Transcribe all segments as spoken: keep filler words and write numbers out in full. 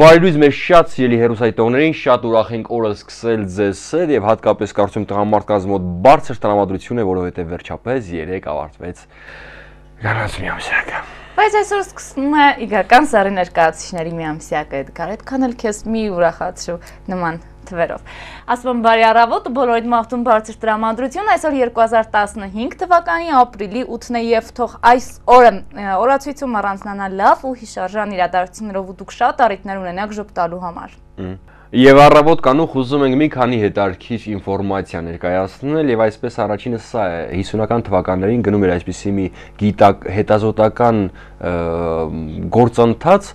Բարելույզ մեր շատ սիրելի հեռուստադիտողներին, շատ ուրախ ենք օրը սկսել ձեզ հետ եւ հատկապես կարծում տղամարդկանց մոտ բարձր տրամադրություն է, որովհետեւ վերջապես երեք ավարտվեց գրանց միամսյակը։ Բայց այսօր սկսվում է իգական սարի ներկայացուցիչների միամսյակը, Էդգար, այդքան էլ քեզ մի ուրախացրու նման թվերով։ Ասում եմ բարի առավոտ, բոլորիդ մաղթում բարձր տրամադրություն, այսօր երկու հազար տասնհինգ թվականի ապրիլի ութն է եւ թող այս օրը օրացույցում առանձնանա լավ ու հիշարժան իրադարձություններով ու դուք շատ առիթներ ունենաք ժպտալու համար։ Եվ առավոտ կանուխ ուզում ենք մի քանի հետաքրքիր ինֆորմացիա ներկայացնել եւ այսպես առաջինը սա է հիսունական թվականներին գնում էր այսպիսի մի գիտակ հետազոտական գործընթաց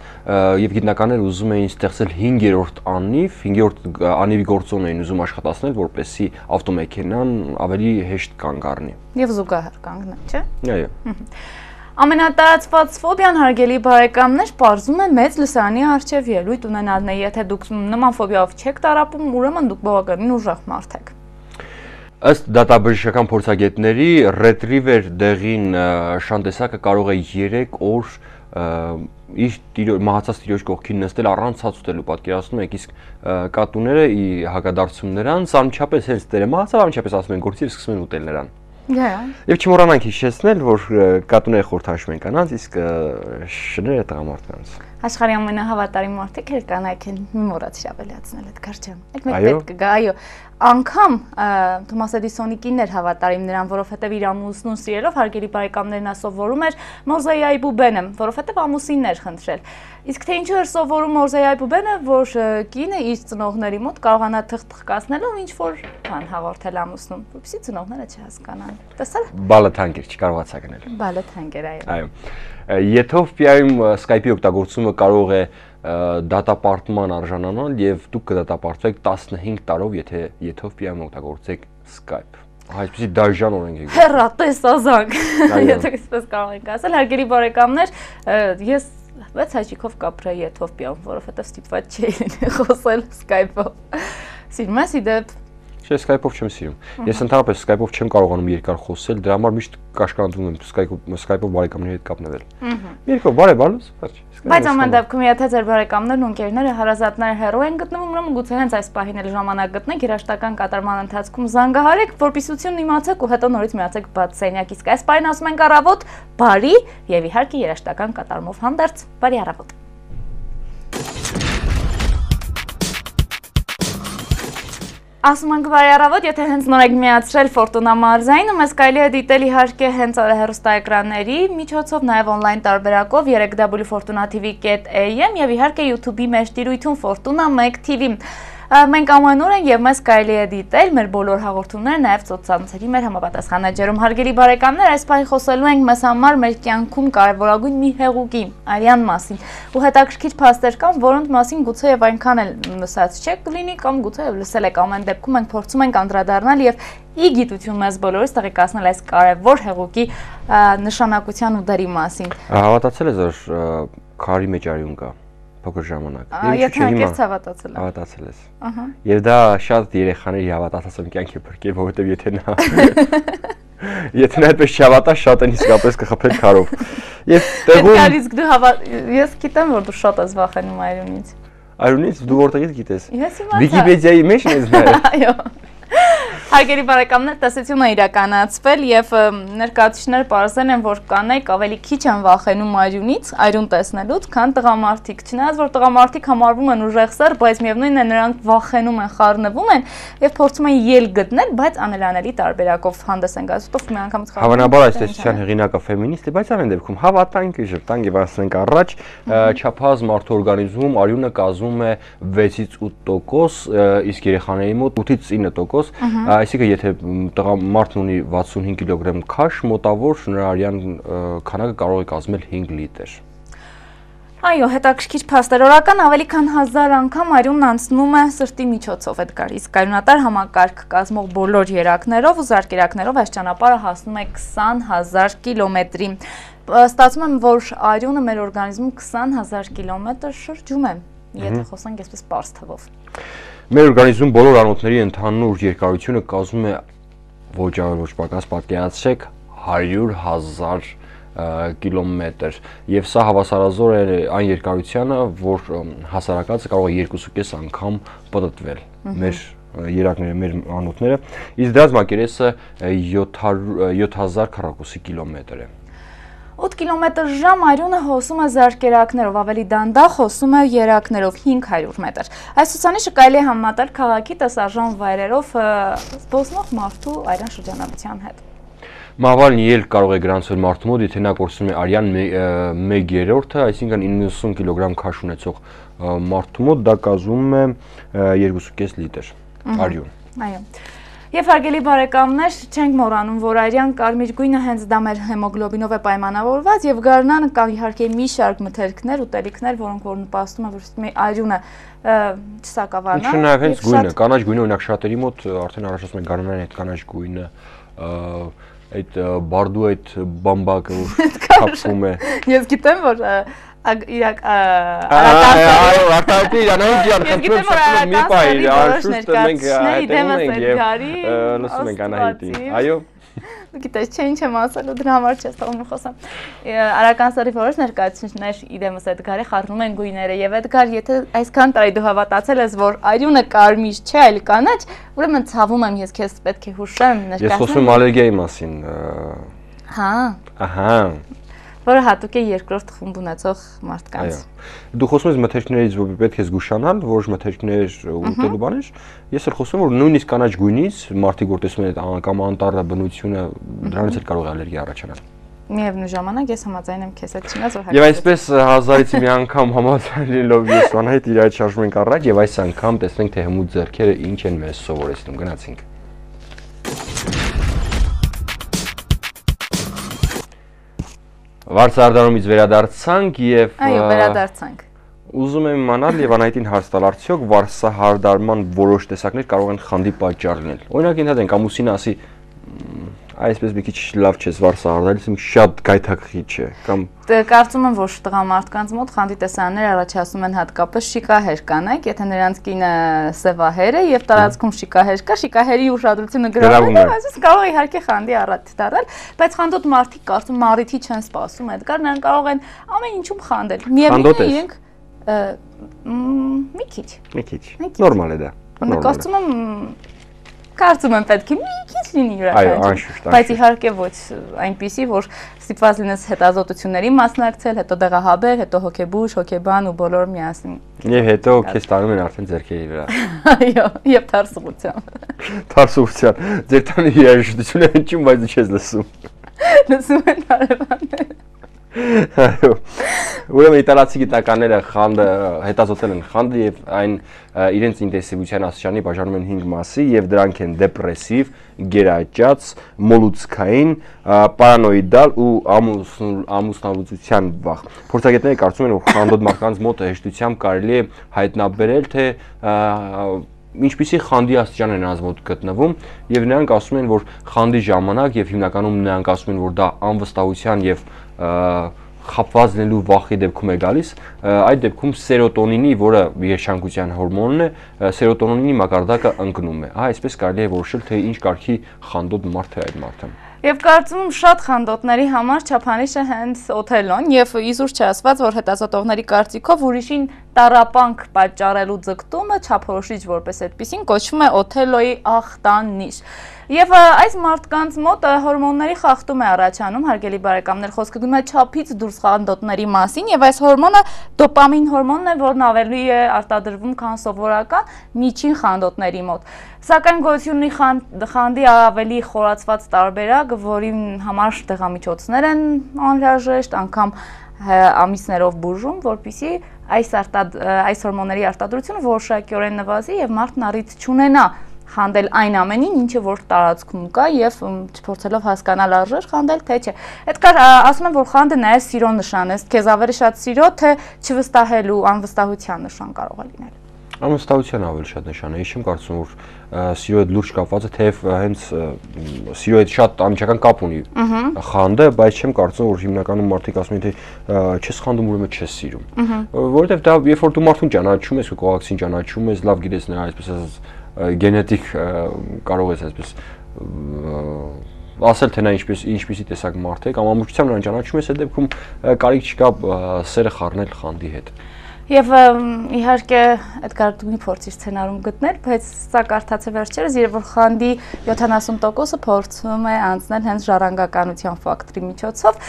եւ գիտնականները ուզում էին ստեղծել հինգերորդ անիվ, հինգերորդ անիվի գործոն էին ուզում աշխատացնել, որպեսզի ավտոմեքենան ավելի հեշտ կանգ առնի։ Եվ զուգահեռ կանգնի, չէ՞։ Այո։ Ամենատարածված ֆոբիան հարգելի բարեկամներ պարզում է մեծ լսարանի առջև ելույթ ունենալն է, եթե դուք նման ֆոբիայով չեք տառապում, ուրեմն դուք բավականին ուժեղ մարդ եք։ Ըստ դատաբժշկական փորձագետների ռետրիվեր դեղին շանտեսակը կարող է երեք օր իր մահացած տիրոջ կողքին նստել առանց ցած ուտելու, պատկերացնում եք, իսկ կատուները ի հակադարձում նրան անմիջապես հենց տերը մահացավ, անմիջապես ասում են գործի եւ սկսում են ուտել նրան։ Եվ չմոռանանք հիշեցնել, որ կատուները խորհրդանշում են կանանց, իսկ շները տղամարդկանց։ Աշխարհի ամենահավատարիմ մարդիկ էլ կանայք են, մի մոռացիր ավելացնել այդ կարճան։ Այդ մեկ պետք կգա, այո։ Անգամ Թոմաս Էդիսոնի կինն էր հավատարիմ նրան, որովհետև իր ամուսնուն սիրելով հարգելի բարեկամներ նա սովորում էր Մորզեյայի բուբենը, որովհետև ամուսինն էր խնդրել։ Իսկ թե ինչու էր սովորում Մորզեյայի բուբենը, որ կինը իր ծնողների մոտ կարողանա թղթ-թղթկացնելով ինչ որ բան հաղորդել ամուսնուն, որպեսզի ծնողները չհասկանան։ Տեսա՞ր։ Բալը թանկ էր, չկարողացա գնել։ Բալը թանկ էր, այո։ Այո։ Եթովպիայում Skype-ի օգտագործումը կարող է դատապարտման արժանանալ եւ դուք կդատապարտվեք տասնհինգ տարով, եթե Եթովպիայում օգտագործեք Skype։ Այսպեսի դաժան օրենք եք։ Հեռատես ազանք։ Եթե այսպես կարող ենք ասել, հարգելի բարեկամներ, ես վեց հաճիկով կապրեի Եթովպիայում, որովհետեւ ստիպված չէի խոսել Skype-ով։ Սիրում ես իդեպ։ Չէ, Skype-ով չեմ սիրում։ Ես ընդհանրապես Skype-ով չեմ կարողանում երկար խոսել, դրա համար միշտ կաշկանդվում եմ Skype-ով բարեկամների հետ կապնվել։ Երկու բարև բալուս, բայց Բայց ամեն դեպքում եթե ձեր բարեկամներն ու ընկերները հարազատները հեռու են գտնվում, ուրեմն գուցե հենց այս պահին էլ ժամանակ գտնեք երաշտական կատարման ընթացքում զանգահարեք, որպեսզությունն իմացեք ու հետո նորից միացեք բաց սենյակ, իսկ այս պահին ասում ենք առավոտ, բարի եւ իհարկե երաշտական կատարմով հանդերձ, բարի առավոտ։ Ասում ենք բարի առավոտ, եթե հենց նոր եք միացրել Ֆորտունա մարզային, մեզ կարելի է դիտել իհարկե հենց հեռուստաէկրանների միջոցով, նաև օնլայն տարբերակով երեք w ֆորտունա թի վի կետ էյ էմ եւ իհարկե YouTube-ի մեր տիրույթում Ֆորտունա մեկ թի վի։ Մենք ամանոր ենք եւ մեզ կարելի է դիտել մեր բոլոր հաղորդումները նաեւ սոցցանցերի մեր համապատասխան էջերում։ Հարգելի բարեկամներ, այս պահի խոսելու ենք մեզ համար մեր կյանքում կարևորագույն մի հեղուկի, արյան մասին։ Ու հետաքրքիր փաստեր կան, որոնց մասին գուցե եւ այնքան էլ լսած չեք լինի կամ գուցե եւ լսել եք, ամեն դեպքում մենք փորձում ենք անդրադառնալ եւ ի գիտություն մեզ բոլորից տեղեկացնել այս կարևոր հեղուկի նշանակության ու դերի մասին։ Հավատացել ես, որ քարի մեջ արյուն կա։ Փոքր ժամանակ։ Եթե անկեղծ հավատացել եմ։ Հավատացել ես։ Ահա։ Եվ դա շատ երեխաների հավատացած կյանքի փրկել, որովհետև եթե նա եթե նա այդպես չհավատա, շատ են իսկապես կխփել քարով։ Եվ տեղում Գալիս դու հավատ ես գիտեմ, որ դու շատ ես վախենում արյունից։ Արյունից դու որտեղից գիտես։ Ես իմացա։ Վիկիպեդիայի մեջ ես նայել։ Այո։ Հարգելի բարեկամներ, տեսությունը իրականացվել եւ ներկայացուցիչները պարզել են, որ կանայք ավելի քիչ են վախենում արյունից, արյուն տեսնելուց, քան տղամարդիկ։ Չնայած որ տղամարդիկ համարվում են ուժեղսեր, բայց միևնույնն է նրանք վախենում են, խառնվում են եւ փորձում են ելք գտնել, բայց անելանելի տարբերակով հանդես են գալիս, ով մի անգամից խառնում։ Հավանաբար այս տեսության հեղինակը ֆեմինիստ է, բայց ամեն դեպքում հավատանք, ժպտանք եւ ասենք առաջ, չափահաս մարդու օրգանիզմում արյունը կազմում է վեցից ութ տոկոս, իսկ երեխաների մոտ ութից ինը տոկոս։ Այսինքն եթե տղամարդն ունի վաթսունհինգ կիլոգրամ քաշ, մոտավոր նրա արյան քանակը կարող է կազմել հինգ լիտր։ Այո, հետաքրքիր փաստեր, օրական ավելի քան հազար անգամ արյունն անցնում է սրտի միջոցով, Էդգար, իսկ արյունատար համակարգ կազմող բոլոր երակներով ու զարկերակներով այս ճանապարհը հասնում է քսան հազար կիլոմետրի։ Ստացվում է, որ արյունը մեր օրգանիզմում քսան հազար կիլոմետր շրջում է, եթե խոսենք այսպես պարզ թվով։ Մեր օրգանիզմում բոլոր անոթների ընդհանուր երկարությունը կազմում է ոչ ավելի ոչ պակաս պատկերացրեք հարյուր հազար կիլոմետր եւ սա հավասարազոր է այն երկարությանը, որ հասարակածը կարող է երկու կես անգամ պտտվել մեր երակները, մեր անոթները, իսկ դրանց մակերեսը յոթ հազար քառակուսի կիլոմետր է։ ութ կիլոմետր ժամ արյունը հոսում է զարկերակներով, ավելի դանդաղ հոսում է երակներով հինգ հարյուր մետր։ Այս ցուցանիշը կարելի է համեմատել քաղաքի տեսարժան վայրերով զբոսնող մարդու այրան շրջանառության հետ։ Մահվան ելք կարող է գրանցվել մարդու մոտ, եթե նա կորցնում է արյան մեկ երրորդը, այսինքն իննսուն կիլոգրամ քաշ ունեցող մարդու մոտ դա կազմում է երկու կես լիտր արյուն։ Այո։ Եվ հարգելի բարեկամներ, չենք մոռանում, որ արյան կարմիր գույնը հենց դա մեր հեմոգլոբինով է պայմանավորված եւ գարնանը կան իհարկե մի շարք մթերքներ, ուտելիքներ, որոնք որ նպաստում են, որ արյունը չսակավանա։ Ինչու նաեւ հենց գույնը, կանաչ գույնը օրինակ շատերի մոտ արդեն առաջացնում է գարնանային այդ կանաչ գույնը, այդ բարդու այդ բամբակը որ թափվում է։ Ես գիտեմ, որ իրակ այո, արտահայտի Իրանային ջան, խնդրում եմ մի բայ, շուտ մենք այդտեղ ենք եւ լսում ենք Անահիտին։ Այո։ Գիտես, չէ, ինչ եմ ասելու, դրա համար չես թողնում խոսամ։ Արական սարի որոշ ներկայացուցիչներ իրեմս Էդգարի խառնում են գույները եւ Էդգար, եթե այսքան տարի դու հավատացել ես, որ արյունը կարմիր չէ, այլ կանաչ, ուրեմն ցավում եմ, ես քեզ պետք է հուշեմ ներկայացնեմ։ Ես խոսում եմ ալերգիայի մասին։ Հա։ Ահա։ Որը հատուկ է երկրորդ խումբ ունեցող մարդկանց։ Այո։ Դու խոսում ես մթերքներից, որ պետք է զգուշանալ, որոշ մթերքներ ուտելու բաներ։ Ես էլ խոսում եմ, որ նույնիսկ կանաչ գույնից մարդիկ որ տեսնում են այդ կամ անտառը բնությունը, դրանից էլ կարող է ալերգիա առաջանալ։ Միևնույն ժամանակ ես համաձայն եմ քեզ հետ, չնայած որ Եվ այսպես հազարից մի անգամ համաձայնելով ես Անահիտ իր այդ շարժում ենք առաջ եւ այս անգամ տեսնենք թե հմուտ ձեռքերը ինչ են մեզ սովորեցնում։ Գնացինք։ Վարսարդանումից վերադարձանք եւ Այո, վերադարձանք։ Ուզում եմ իմանալ եւ Անահիտին հարց տալ, արդյոք վարսահարդարման որոշ տեսակներ կարող են խանդի պատճառ լինել։ Օրինակ ընդհանրեն ամուսինը ասի այսպես մի քիչ լավ չես վարսահարդալիս, մի շատ գայթակղիչ է կամ Կարծում եմ, որ տղամարդկանց մոտ խանդի տեսաններ առաջացնում են հատկապես շիկահեր կանայք, եթե նրանց կինը սևահեր է եւ տարածքում շիկահեր կա, շիկահերի ուշադրությունը գրավում է, այսպես կարող է իհարկե խանդի առատ դառնալ, բայց խանդոտ մարդիկ կարծում մարիթի չեն սպասում, այդքան նրանք կարող են ամեն ինչում խանդել։ Միևնույն է իրենք մի քիչ։ Մի քիչ։ Նորմալ է դա։ Կարծում եմ Կարծում եմ պետք է մի քիչ լինի յուրաքանչյուր։ Այո, անշուշտ, բայց իհարկե ոչ այնպիսի, որ ստիպված լինես հետազոտությունների մասնակցել, հետո դեղահաբեր, հետո հոգեբույժ, հոգեբան ու բոլոր միասին։ Եվ հետո քեզ տանում են արդեն ձեռքերի վրա։ Այո, եւ թարսուղությամբ։ Թարսուղությամբ։ Ձեր տանը երաժշտությունը հնչում, բայց դու չես լսում։ Լսում են հարևանները։ Այո։ Ուրեմն իտալացի գիտնականները խանդը հետազոտել են խանդը եւ այն իրենց ինտենսիվության աստիճանի բաժանում են հինգ մասի եւ դրանք են դեպրեսիվ, գերաճած, մոլուցքային, պարանոիդալ ու ամուսնալուծության վախ։ Փորձագետները կարծում են, որ խանդոտ մարդկանց մոտ հեշտությամբ կարելի է հայտնաբերել, թե ինչպիսի խանդի աստիճան է նրանց մոտ գտնվում եւ նրանք ասում են, որ խանդի ժամանակ եւ հիմնականում նրանք ասում են, որ դա անվստահության եւ խապված լինելու վախի դեպքում է գալիս, այդ դեպքում սերոտոնինի, որը երջանկության հորմոնն է, սերոտոնինի մակարդակը ընկնում է։ Ահա այսպես կարելի է որոշել, թե ինչ կարգի խանդոտ մարդ է այդ մարդը։ Եվ կարծում եմ շատ խանդոտների համար չափանիշը հենց Օթելոն եւ իզուր չասված, որ հետազոտողների կարծիքով ուրիշին տառապանք պատճառելու ձգտումը չափորոշիչ որպես այդպեսին կոչվում է Օթելոյի ախտանիշ։ Եվ այս մարդկանց մոտ հորմոնների խախտում է առաջանում, հարգելի բարեկամներ, խոսքը գնում է չափից դուրս խանդոտների մասին եւ այս հորմոնը դոպամին հորմոնն է, որն ավելի է արտադրվում, քան սովորական միջին խանդոտների մոտ։ Սակայն գոյություն ունի խանդի ավելի խորացված տարբերակ, որի համար դեղամիջոցներ են անհրաժեշտ, անգամ ամիսներով բուժում, որպեսզի այս այս հորմոնների արտադրությունը որոշակիորեն նվազի եւ մարդն առիթ չունենա խանդել այն ամենին, ինչը որ տարածքում կա եւ փորձելով հասկանալ արժեր խանդել թե չէ։ Այդքան ասում եմ, որ խանդը նաեւ սիրո նշան է, քեզ ավելի շատ սիրո, թե չվստահելու, անվստահության նշան կարող է լինել։ Անվստահության ավելի շատ նշան է, ես չեմ կարծում, որ սիրո հետ լուրջ կապված է, թեև հենց սիրո հետ շատ անմիջական կապ ունի խանդը, բայց չեմ կարծում, որ հիմնականում մարդիկ ասում են, թե չես խանդում, ուրեմն չես սիրում։ Որովհետեւ դա երբ որ դու մարդուն ճանաչում ես, ու կողակցին ճանաչում ես, լավ գիտես նրա այսպես ասած գենետիկ կարող ես այսպես ասել թե նա ինչպես ինչպեսի տեսակ մարդ է կամ ամբողջությամբ նրան ճանաչում ես, այդ դեպքում կարիք չկա սերը խառնել խանդի հետ։ Եվ իհարկե այդ կարդունի փորձի սցենարում գտնել, բայց սա կարդացե վերջերս, երբ որ խանդի յոթանասուն տոկոսը փորձում է անցնել հենց ժառանգականության ֆակտորի միջոցով,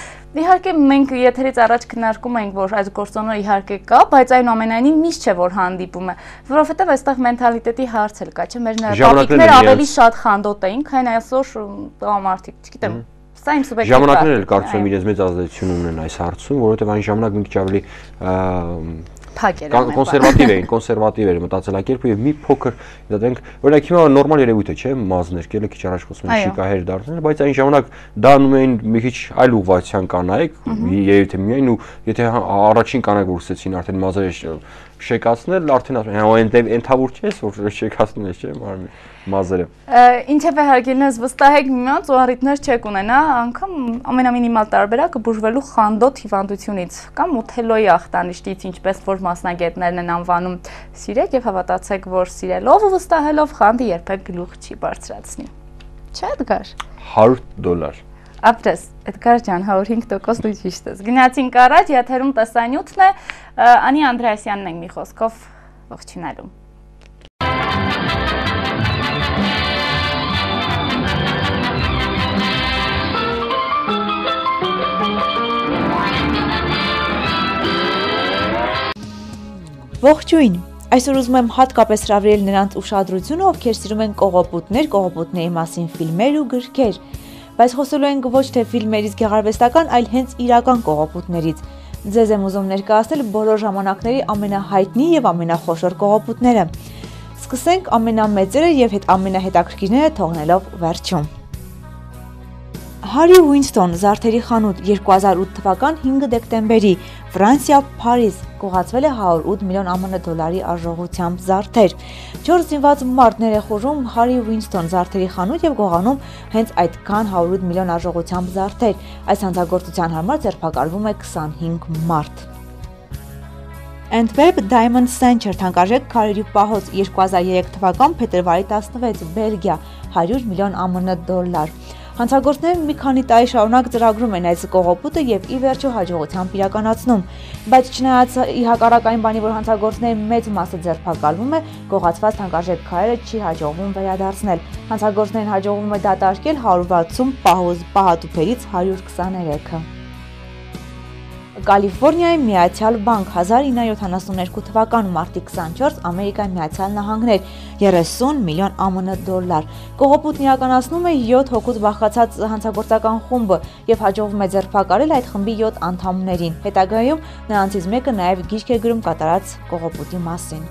իհարկե մենք եթերից առաջ քննարկում ենք, որ այս գործոնը իհարկե կա, բայց այնուամենայնիվ միշտ չէ որ հանդիպում է, որովհետև այստեղ մենթալիտետի հարց էլ կա, չէ՞, մեր տոպիկները ավելի շատ խանդոտ էին, քան այսօր տղամարդիկ, չգիտեմ։ Սա իմ սուբյեկտիվ ժամանակներն էլ կարծում եմ իրենց մեծ ազդեցություն ունեն այս հարցում, որովհետև այն ժամանակ մի քիչ ավելի կոնսերվատիվ էին, կոնսերվատիվ էր մտածելակերպը եւ մի փոքր դատենք, օրինակ հիմա նորմալ երևույթ է, չէ՞, մազներ, կելը քիչ առաջ խոսում են շիկահեր դարձնել, բայց այն ժամանակ դա անում էին մի քիչ այլ ուղղվածության կանայք, երևի թե միայն ու եթե առաջին կանայք որ սկսեցին արդեն մազերը շեկացնել, արդեն ասում ենթավոր չես, որ շեկացնում ես, չէ՞, մազերը։ Ինչև է հարգելին ես վստահեք միմյանց ու առիթներ չեք ունենա, անգամ ամենամինիմալ տարբերակը բուժվելու խանդոտ հիվանդությունից կամ Օթելոյի ախտանիշից, ինչպես որ մասնագետներն են անվանում, սիրեք եւ հավատացեք, որ սիրելով ու վստահելով խանդը երբեք գլուխ չի բարձրացնի։ Չէ՞ Էդգար։ հարյուր դոլար։ Ապրես, Էդգար ջան, հարյուր հինգ տոկոս դու ճիշտ ես։ Գնացինք առաջ, եթերում տեսանյութն է, Անի Անդրեասյանն ենք մի խոսքով ողջունալու։ Ողջույն, այսօր ուզում եմ հատկապես հրավիրել նրանց ուշադրությունը, ովքեր սիրում են կողոպուտներ, կողոպուտների մասին ֆիլմեր ու գրքեր, բայց խոսելու ենք ոչ թե ֆիլմերից գեղարվեստական, այլ հենց իրական կողոպուտներից։ Ձեզ եմ ուզում ներկայացնել բոլոր ժամանակների ամենահայտնի եւ ամենախոշոր կողոպուտները։ Սկսենք ամենամեծերը եւ հետ ամենահետաքրքիրները թողնելով վերջում։ Հարի Ուինստոն զարդերի խանութ երկու հազար ութ թվական հինգ դեկտեմբերի Ֆրանսիա Փարիզ գողացվել է հարյուր ութ միլիոն ԱՄՆ դոլարի արժողությամբ զարդեր։ Չորս զինված մարդներ է խոժում Հարի Ուինստոն զարդերի խանութ եւ գողանում հենց այդքան հարյուր ութ միլիոն արժողությամբ զարդեր։ Այս հանցագործության համար ձերբակալվում է քսանհինգ մարդ։ Antwerp Diamond Center թանկարժեք քարերի պահոց երկու հազար երեք թվական փետրվարի տասնվեց Բելգիա հարյուր միլիոն ԱՄՆ դոլար։ Հանցագործները մի քանի տարի շարունակ ծրագրում են այս կողոպուտը եւ ի վերջո հաջողությամբ իրականացնում, բայց չնայած ի հակառակ այն բանի, որ հանցագործների մեծ մասը ձերբակալվում է, գողացված թանկարժեք քարերը չի հաջողվում վերադարձնել։ Հանցագործներին հաջողվում է դատարկել հարյուր վաթսուն պահոզ պահատուփերից հարյուր քսաներեքը։ Կալիֆոռնիայի Միացյալ Բանկ հազար ինը հարյուր յոթանասուններկու թվական մարտի քսանչորս Ամերիկայի Միացյալ Նահանգներ երեսուն միլիոն ԱՄՆ դոլար։ Կողոպուտն իրականացնում է յոթ հոգուց բաղկացած հանցագործական խումբը եւ հաջողվում է ձերբակալել այդ խմբի յոթ անդամներին։ Հետագայում նրանցից մեկը նաեւ գիրք է գրում կատարած կողոպուտի մասին։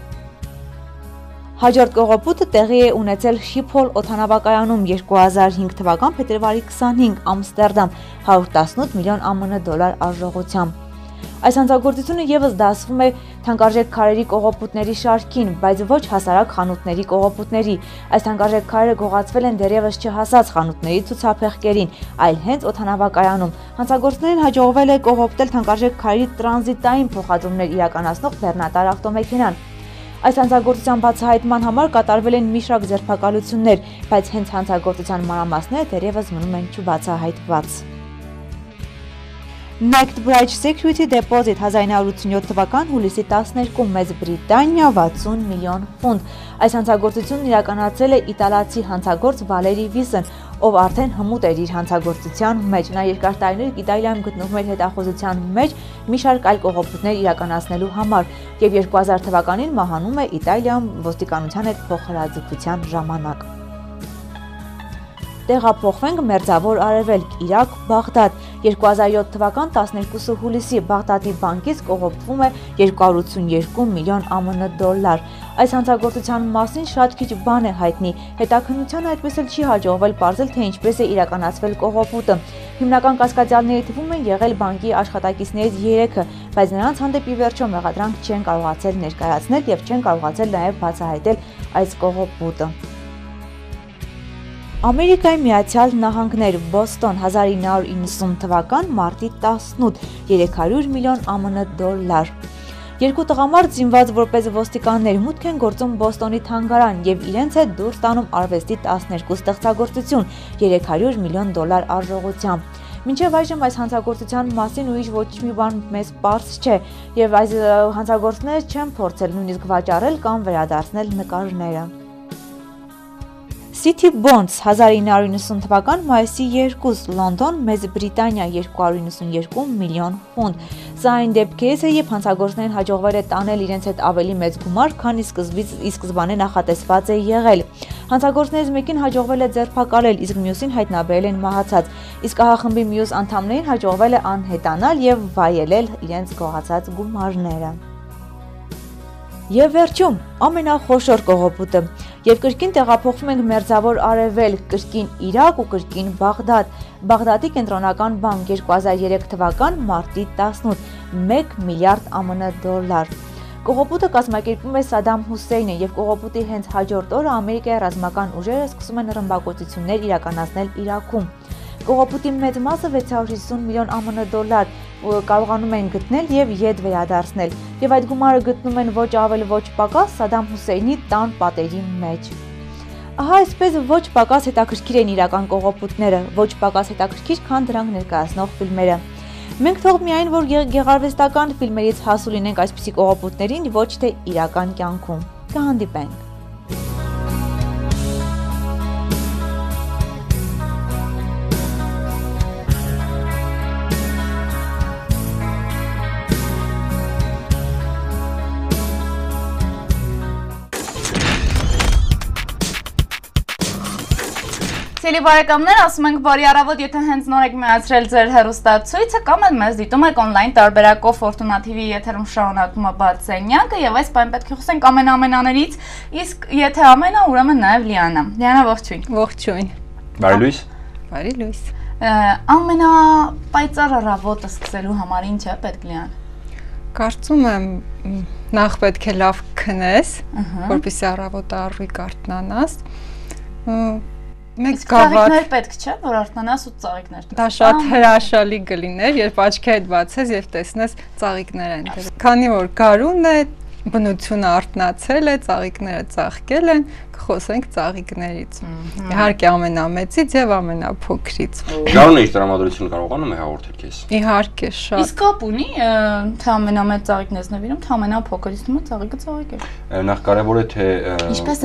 Հաջորդ կողոպուտը տեղի է ունեցել Շիփհոլ օդանավակայանում երկու հազար հինգ թվական փետրվարի քսանհինգ Ամստերդամ հարյուր տասնութ միլիոն ԱՄՆ դոլար արժողությամբ։ Այս հանցագործությունը եւս դասվում է թանկարժեք քարերի կողոպուտների շարքին, բայց ոչ հասարակ խանութների կողոպուտների։ Այս թանկարժեք քարերը գողացվել են դեռևս չհասած խանութների ցուցափեղկերին, այլ հենց օդանավակայանում։ Հանցագործներին հաջողվել է կողոպտել թանկարժեք քարերի տրանզիտային փոխադրումներ իրականացնող բեռնատար ավտոմեքենան։ Այս հանցագործության բացահայտման համար կատարվել են մի շարք ձերբակալություններ, բայց հենց հանցագործության մանրամասները դեռևս մնում են չբացահայտված։ Knightsbridge Security Deposit հազար ինը հարյուր ութսունյոթ թվական հուլիսի տասներկու Մեծ Բրիտանիա վաթսուն միլիոն ֆունտ։ Այս հանցագործությունն իրականացրել է իտալացի հանցագործ Վալերի Վիսն, ով արդեն հմուտ էր իր հանցագործության մեջ։ Նա երկար տարիներ Իտալիայում գտնվում էր հետախուզության մեջ մի շարք այլ կողոպուտներ իրականացնելու համար եւ երկու հազար թվականին մահանում է Իտալիայում ոստիկանության հետ փոխհրաձգության ժամանակ։ Տեղափոխվենք Մերձավոր Արևելք, Իրաք, Բաղդադ։ երկու հազար յոթ թվական տասներկուսը հուլիսի Բաղդադի բանկից կողոպտվում է երկու հարյուր ութսունյերկու միլիոն ԱՄՆ դոլար։ Այս հանցագործության մասին շատ քիչ բան է հայտնի։ Հետաքննության այդպես էլ չի հաջողվել պարզել, թե ինչպես է իրականացվել կողոպուտը։ Հիմնական կասկածյալների թվում են եղել բանկի աշխատակիցներից երեքը, բայց նրանց հանդեպ ի վերջո մեղադրանք չեն կարողացել ներկայացնել եւ չեն կարողացել նաեւ բացահայտել այս կողոպուտը։ Ամերիկայի Միացյալ Նահանգներ Բոստոն հազար ինը հարյուր իննսուն թվական մարտի տասնութ երեք հարյուր միլիոն ԱՄՆ դոլար։ Երկու տղամարդ զինված որպես ոստիկաններ մուտք են գործում Բոստոնի թանգարան եւ իրենց հետ դուրս տանում արվեստի տասներկու ստեղծագործություն երեք հարյուր միլիոն դոլար արժողությամբ։ Մինչև այժմ այս հանցագործության մասին ուրիշ ոչ մի բան մեզ պարզ չէ եւ այս հանցագործները չեն փորձել նույնիսկ վաճառել կամ վերադարձնել նկարները։ City Bonds հազար ինը հարյուր նվաթ թվական մայիսի երկուս Լոնդոն, Մեծ Բրիտանիա երկու հարյուր նվաթ երկու միլիոն ֆունտ։ Սա այն դեպքերից է, երբ հանցագործներին հաջողվել է տանել իրենց հետ ավելի մեծ գումար, քան ի սկզբանե նախատեսված է եղել։ Հանցագործներից մեկին հաջողվել է ձերբակալել, իսկ մյուսին հայտնաբերել են մահացած, իսկ ահախմբի մյուս անդամներին հաջողվել է անհետանալ եւ վայելել իրենց գողացած գումարները։ Եվ վերջում ամենախոշոր կողոպուտը, եւ կրկին տեղափոխվում ենք մերձավոր արևելք, կրկին Իրաք ու կրկին Բաղդադ։ Բաղդադի կենտրոնական բանկ երկու հազար երեք թվական մարտի տասնութ, մեկ միլիարդ ԱՄՆ դոլար։ Կողոպուտը կազմակերպում է Սադամ Հուսեյնը եւ կողոպուտի հենց հաջորդ օրը Ամերիկայի ռազմական ուժերը սկսում են ռմբակոծություններ իրականացնել Իրաքում։ Կողոպուտի մեծ մասը վեց հարյուր հիսուն միլիոն ԱՄՆ դոլար կարողանում են գտնել եւ ետ վերադարձնել, եւ այդ գումարը գտնում են ոչ ավել ոչ պակաս Սադամ Հուսեյնի տան պատերի մեջ։ Ահա այսպես ոչ պակաս հետաքրքիր են իրական կողոպուտները, ոչ պակաս հետաքրքիր, քան դրանք ներկայացնող ֆիլմերը։ Մենք թող միայն որ գեղարվեստական ֆիլմերից հասու լինենք այսպիսի կողոպուտներին, ոչ թե իրական կյանքում։ Կհանդիպենք։ Սիրելի բարեկամներ, ասում ենք բարի առավոտ, եթե հենց նոր եք միացրել ձեր հեռուստացույցը կամ էլ մեզ դիտում եք on-line տարբերակով Ֆորտունա թի վի եթերում շարունակվում է բաց սենյակը եւ այս պայն պետք է խոսենք ամենաամենաներից, իսկ եթե ամենա, ուրեմն նաեւ Լիանա։ Լիանա, ողջույն։ Ողջույն։ Բարի լույս։ Բարի լույս։ Ամենապայծառ առավոտը սկսելու համար ինչ է պետք Լիան։ Կարծում եմ նախ պետք է լավ քնես, որպեսզի առավոտը առույգ արթնանաս։ Մեկ ծաղիկներ պետք չէ, որ արթնանաս ու ծաղիկներ տեսնես։ Դա շատ հրաշալի կլիներ, երբ աչքերդ բացես եւ տեսնես ծաղիկներ են դրել։ Քանի որ գարուն է, բնությունը արթնացել է, ծաղիկները ծաղկել են, կխոսենք ծաղիկներից։ Իհարկե ամենամեծից եւ ամենափոքրից։ Գարունը իր տրամադրությունը կարողանում է հաղորդել քեզ։ Իհարկե շատ։ Իսկ կապ ունի թե ամենամեծ ծաղիկն ես նվիրում, թե ամենափոքրից նույն ծաղիկը ծաղիկ է։ Նախ կարևոր է թե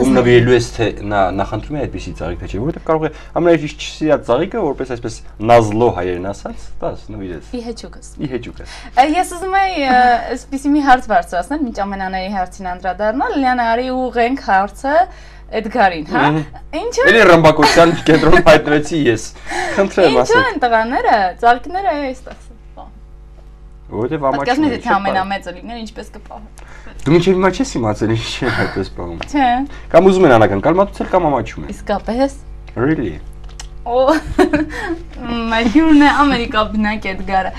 ում նվիրելու ես թե նա նախընտրում է այդպիսի ծաղիկ թե չէ, որովհետեւ կարող է ամենայից չսիրած ծաղիկը, որպես այսպես նազլո հայերեն ասած, դաս նվիրես։ Իհեճուկս։ Իհեճուկս։ Ես ուզում եի այսպեսի մի հարց բարձրացնել, մինչ ամենաների հարցին անդրադառնալ, Լիանա, արի ուղենք հարցը Էդգարին, հա։ Ինչու՞։ Էլի ռմբակոծության կենտրոնում հայտնվեցի ես։ Խնդրեմ ասեք։ Ինչու են տղաները, ծաղիկները այստեղ։ Որովհետև ամաչում է։ Պատկասնի թե ամենամեծը լիներ, ինչպես կպահի։ Դու մինչև հիմա չես իմացել ինչ է այդպես պահում։ Չէ։ Կամ ուզում են անական կալմատուցել կամ ամաչում են։ Իսկապես։ Really։ Օ, մայհյուրն է Ամերիկա բնակ Էդգարը։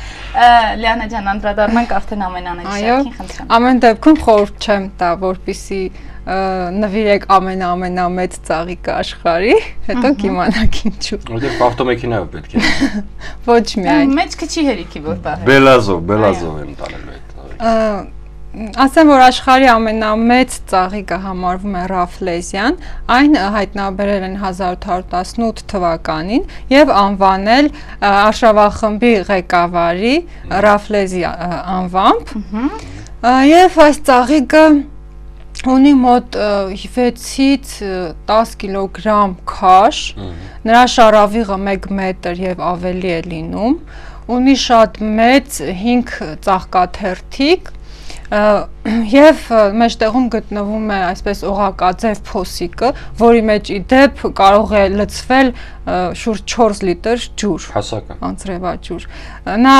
Լիանա ջան, անդրադառնանք արդեն ամենաանեջակին, խնդրեմ։ Ամեն դեպքում խորհուրդ չեմ տա, որպեսզի նվիրեք ամենաամենամեծ ծաղիկը աշխարհի, հետո կիմանաք ինչու։ Որտեղ ավտոմեքենայով պետք է։ Ոչ միայն։ Մեջքը չի հերիքի որ պահել։ Բելազով, բելազով եմ տանելու այդ ծաղիկը։ Ասեմ, որ աշխարհի ամենամեծ ծաղիկը համարվում է Ռաֆլեզիան, այն հայտնաբերել են հազար ութ հարյուր տասնութ թվականին եւ անվանել արշավախմբի ղեկավարի Ռաֆլեզի անվամբ։ Եվ այս ծաղիկը ունի մոտ վեցից տաս կիլոգրամ քաշ, նրա շարավիղը մեկ մետր եւ ավելի է լինում, ունի շատ մեծ հինգ ծաղկաթերթիկ եւ մեջտեղում գտնվում է այսպես օղակաձև փոսիկը, որի մեջ ի դեպ կարող է լցվել շուրջ չորս լիտր ջուր։ Հասակը։ Անձրևաջուր։ Նա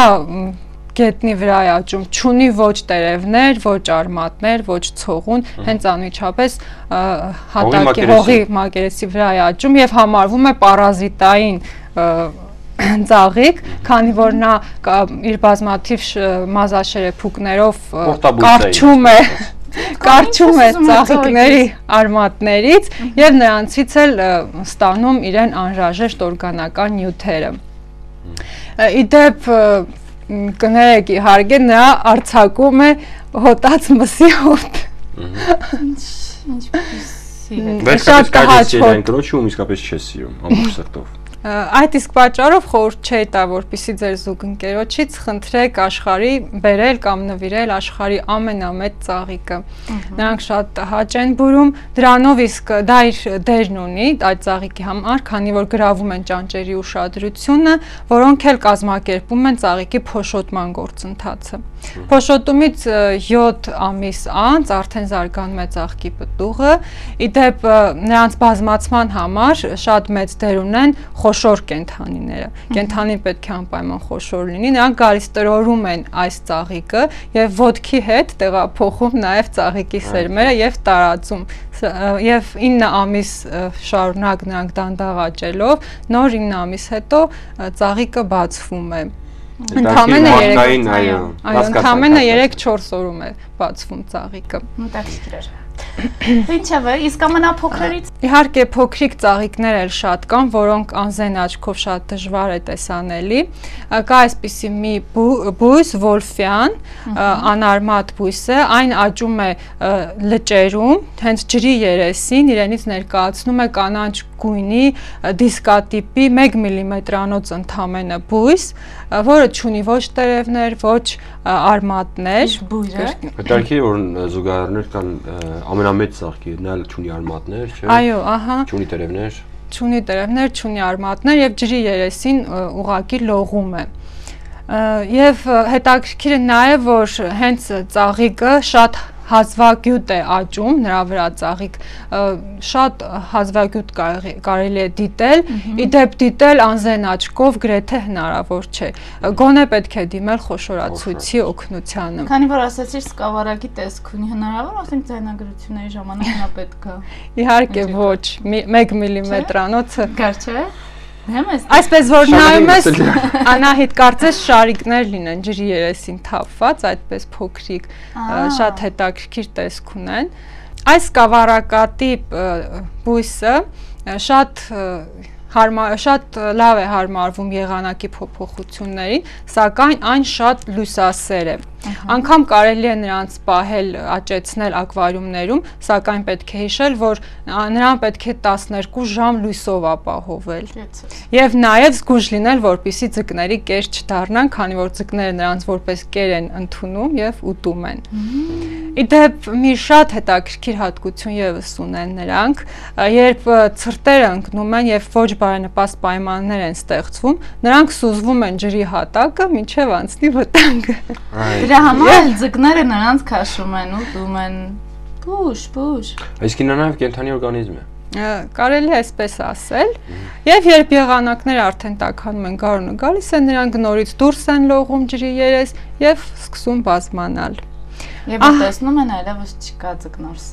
գետնի վրա է աճում, չունի ոչ տերևներ, ոչ արմատներ, ոչ ցողուն, հենց անմիջապես հատակի հողի մակերեսի վրա է աճում եւ համարվում է պարազիտային ծաղիկ, քանի որ նա իր բազմաթիվ մազաշերեփուկներով կարճում է կարճում է ծաղիկների արմատներից եւ նրանցից էլ ստանում իրեն անհրաժեշտ օրգանական նյութերը։ Ի դեպ կներեք իհարկե նա արձակում է հոտած մսի հոտ։ Ինչպեսի է։ Վերջապես կարելի է այն կնոջը ու իսկապես չես սիրում, ամբողջ սրտով։ Այդ իսկ պատճառով խորհուրդ չէի տա, որպեսզի ձեր զուգընկերոջից խնդրեք աշխարհի բերել կամ նվիրել աշխարհի ամենամեծ ծաղիկը։ Նրանք շատ հաճ են բուրում, դրանով իսկ դա իր դերն ունի այդ ծաղիկի համար, քանի որ գրավում են ճանճերի ուշադրությունը, որոնք էլ կազմակերպում են ծաղիկի փոշոտման գործընթացը։ Փոշոտումից յոթ ամիս անց արդեն զարգանում է ծաղկի պտուղը, ի դեպ նրանց բազմացման համար շատ մեծ դեր ունեն խոշոր կենդանիները։ Կենդանին պետք է անպայման խոշոր լինի, նրանք գալիս տրորում են այս ծաղիկը եւ ոտքի հետ տեղափոխում նաեւ ծաղիկի սերմերը եւ տարածում։ Եվ ինը ամիս շարունակ նրանք դանդաղ աճելով, նոր ինը ամիս հետո ծաղիկը բացվում է։ Ընդամենը երեք-չորս օրում է բացվում ծաղիկը։ Մտածիր էր։ Ինչևէ, իսկ ամենափոքրերից իհարկե փոքրիկ ծաղիկներ էլ շատ կան, որոնք անզեն աչքով շատ դժվար է տեսանելի։ Կա այսպիսի մի բույս, վոլֆյան, անարմատ բույս է, այն աճում է լճերում, հենց ջրի երեսին, իրենից ներկայացնում է կանաչ գույնի դիսկատիպի մեկ միլիմետրանոց ընդամենը բույս, որը չունի ոչ տերևներ, ոչ արմատներ։ Հետաքրքիր է, որ զուգահեռներ կան ամենամեծ ծաղկի, նա էլ չունի արմատներ, չէ՞։ Այո, ահա։ Չունի տերևներ։ Չունի տերևներ, չունի արմատներ եւ ջրի երեսին ուղակի լողում է։ Եվ հետաքրքիր է նաեւ, որ հենց ծաղիկը շատ հազվագյուտ է աճում, նրա վրա ծաղիկ շատ հազվագյուտ կարելի է դիտել, ի դեպ դիտել անզեն աչքով գրեթե հնարավոր չէ։ Գոնե պետք է դիմել խոշորացույցի օգնությանը։ Քանի որ ասացիր սկավառակի տեսք ունի, հնարավոր ասենք ձայնագրությունների ժամանակ նա պետք է։ Իհարկե ոչ, մեկ միլիմետրանոցը։ Գար չէ։ Այսպես որ նայում ես, Անահիտ, կարծես շարիկներ լինեն ջրի երեսին թափված, այդպես փոքրիկ, շատ հետաքրքիր տեսք ունեն։ Այս սկավառակատիպ բույսը շատ շատ լավ է հարմարվում եղանակի փոփոխություններին, սակայն այն շատ լույսասեր է։ Անգամ կարելի է նրանց պահել, աճեցնել ակվարիումներում, սակայն պետք է հիշել, որ նրան պետք է տասներկու ժամ լույսով ապահովել։ Եվ նաև զգույշ լինել, որպեսզի ձկների կեր չդառնան, քանի որ ձկները նրանց որպես կեր են ընդունում եւ ուտում են։ Ի դեպ, մի շատ հետաքրքիր հատկություն եւս ունեն նրանք, երբ ցրտերը ընկնում են եւ ոչ բարենպաստ պայմաններ են ստեղծվում, նրանք սուզվում են ջրի հատակը, մինչեւ անցնի վտանգը։ Դրա համար ձկները նրանց քաշում են, ուտում են, բուժ, բուժ։ Այսինքն նա նաեւ կենդանի օրգանիզմ է։ Կարելի է այսպես ասել, եւ երբ եղանակները արդեն տաքանում են, գարունը գալիս է, նրանք նորից դուրս են լողում ջրի երես եւ սկսում բազմանալ։ Եվ տեսնում են այլևս չկա ձկնորս։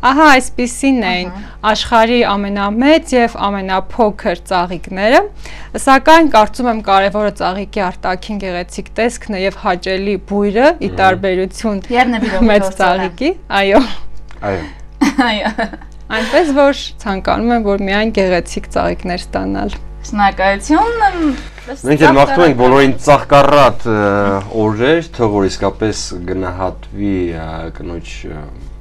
Ահա այսպիսին էին աշխարհի ամենամեծ եւ ամենափոքր ծաղիկները, սակայն կարծում եմ կարևորը ծաղիկի արտաքին գեղեցիկ տեսքն է եւ հաճելի բույրը՝ ի տարբերություն մեծ ծաղիկի, այո։ Այո։ Այո։ Այնպես որ ցանկանում եմ, որ միայն գեղեցիկ ծաղիկներ ստանալ։ Շնորհակալություն։ Մենք էլ մաղթում ենք բոլորին ծաղկառատ օրեր, թող որ իսկապես գնահատվի կնոջ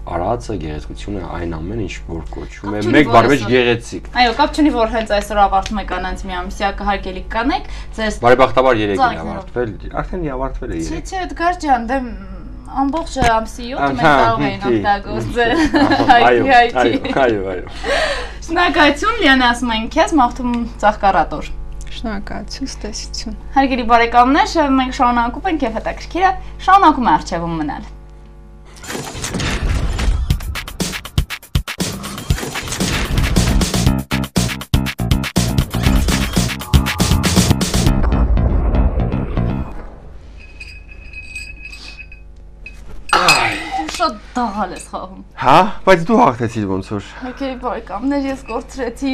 արածը, գեղեցկությունը, այն ամեն ինչ որ կոչվում է, մեկ բառով գեղեցիկ։ Այո, կապ չունի որ հենց այսօր ավարտում է կանանց մի ամսյակը, հարգելի կանեք, ձեզ բարեբախտաբար երեք է ավարտվել, արդեն ավարտվել է երեք։ Չէ, չէ, Էդգար ջան, դե ամբողջ ամսի յոթ մենք կարող էին օգտագործել։ Այո, այո, այո, այո։ Շնորհակալություն, Լիանա, ասում ենք քեզ, մաղթում ծաղկառատ օր։ Շնորհակալություն, ստեսություն։ Հարգելի բարեկամներ, մենք շարունակում ենք եւ հետաքրքիր է, շարունակում է արխիվում մնալ։ Շատ դաղալ ես խաղում։ Հա, բայց դու հաղթեցիր ոնց որ։ Հարգելի բարեկամներ, ես կորցրեցի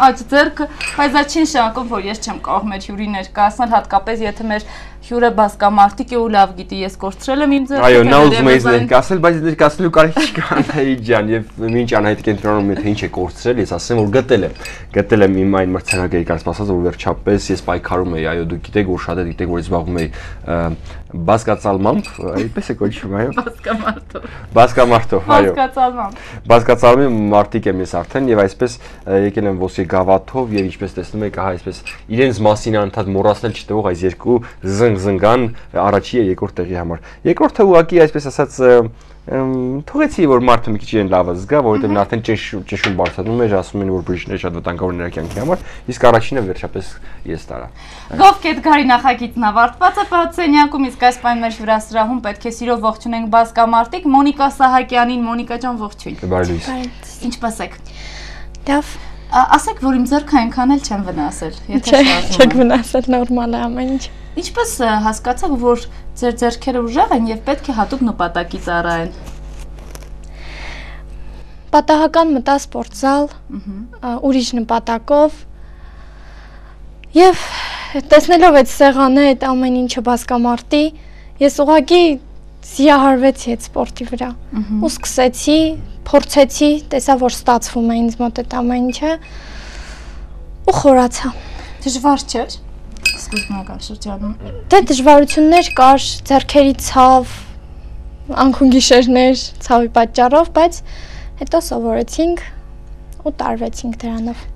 աջ ձեռքը, բայց դա չի նշանակում, որ ես չեմ կարող մեր հյուրի ներկայացնել, հատկապես եթե մեր հյուրը բասկամարտիկ է ու լավ գիտի, ես կորցրել եմ իմ ձեռքը։ Այո, նա ուզում է ինձ ներկայացնել, բայց ներկայացնելու կարիք չկա Անահիտ ջան, եւ մինչ Անահիտ կենտրոնում է թե ինչ է կորցրել, ես ասեմ որ գտել եմ։ Գտել եմ իմ այն մրցանակը եկած ասած որ վերջապես ես պայքարում եի, այո, դուք գիտեք որ շատ է գիտեք որ ես զբաղվում եի բասկացալմամբ, այդպես է կոչվում, այո։ Բասկամարտով։ Բասկամարտով, այո։ Բասկացալմամբ։ Բասկացալմի մարտիկ եմ ես արդեն եւ այսպես եկել եմ ոսկե գավաթով եւ ինչպես տեսնում եք, ահա այսպես իրենց մասին անդադ մոռացնել չտվող այս երկու զնգ-զնգան առաջի եւ երկրորդ տեղի համար։ Երկրորդը ուղղակի այսպես ասած թողեցի որ մարդը մի քիչ իրեն լավը զգա, որովհետեւ նա արդեն ճնշում բարձրանում էր, ասում են որ բրիջները շատ վտանգավոր նրա կյանքի համար, իսկ առաջինը վերջապես ես տարա։ Գովք Էդգարի նախագիծն ավարտված է պատսենյակում, իսկ այս պայն մեր հյուրասրահում պետք է սիրով ողջունենք բասկամարտիկ Մոնիկա Սահակյանին։ Մոնիկա ջան, ողջույն։ Բարի լույս։ Ինչպե՞ս եք։ Լավ։ Ասեք, որ իմ ձեռքը այնքան էլ չեմ վնասել, եթե շարժում։ Չեք վնասել, նորմալ է ամեն ինչ։ Ինչպես հասկացաք, որ ձեր ձեռքերը ուժեղ են եւ պետք է հատուկ նպատակի ծառայեն։ Պատահական մտա սպորտզալ, ուրիշ նպատակով եւ տեսնելով այդ սեղանը, այդ ամեն ինչը բասկամարտի, ես ուղղակի զիահարվեցի այդ սպորտի վրա ու սկսեցի, փորձեցի, տեսա որ ստացվում է ինձ մոտ այդ ամեն ինչը ու խորացա։ Դժվար չէ։ Սկզբնական շրջանում։ Դե դժվարություններ կար, ձեռքերի ցավ, անքուն գիշերներ, ցավի պատճառով, բայց հետո սովորեցինք ու տարվեցինք դրանով։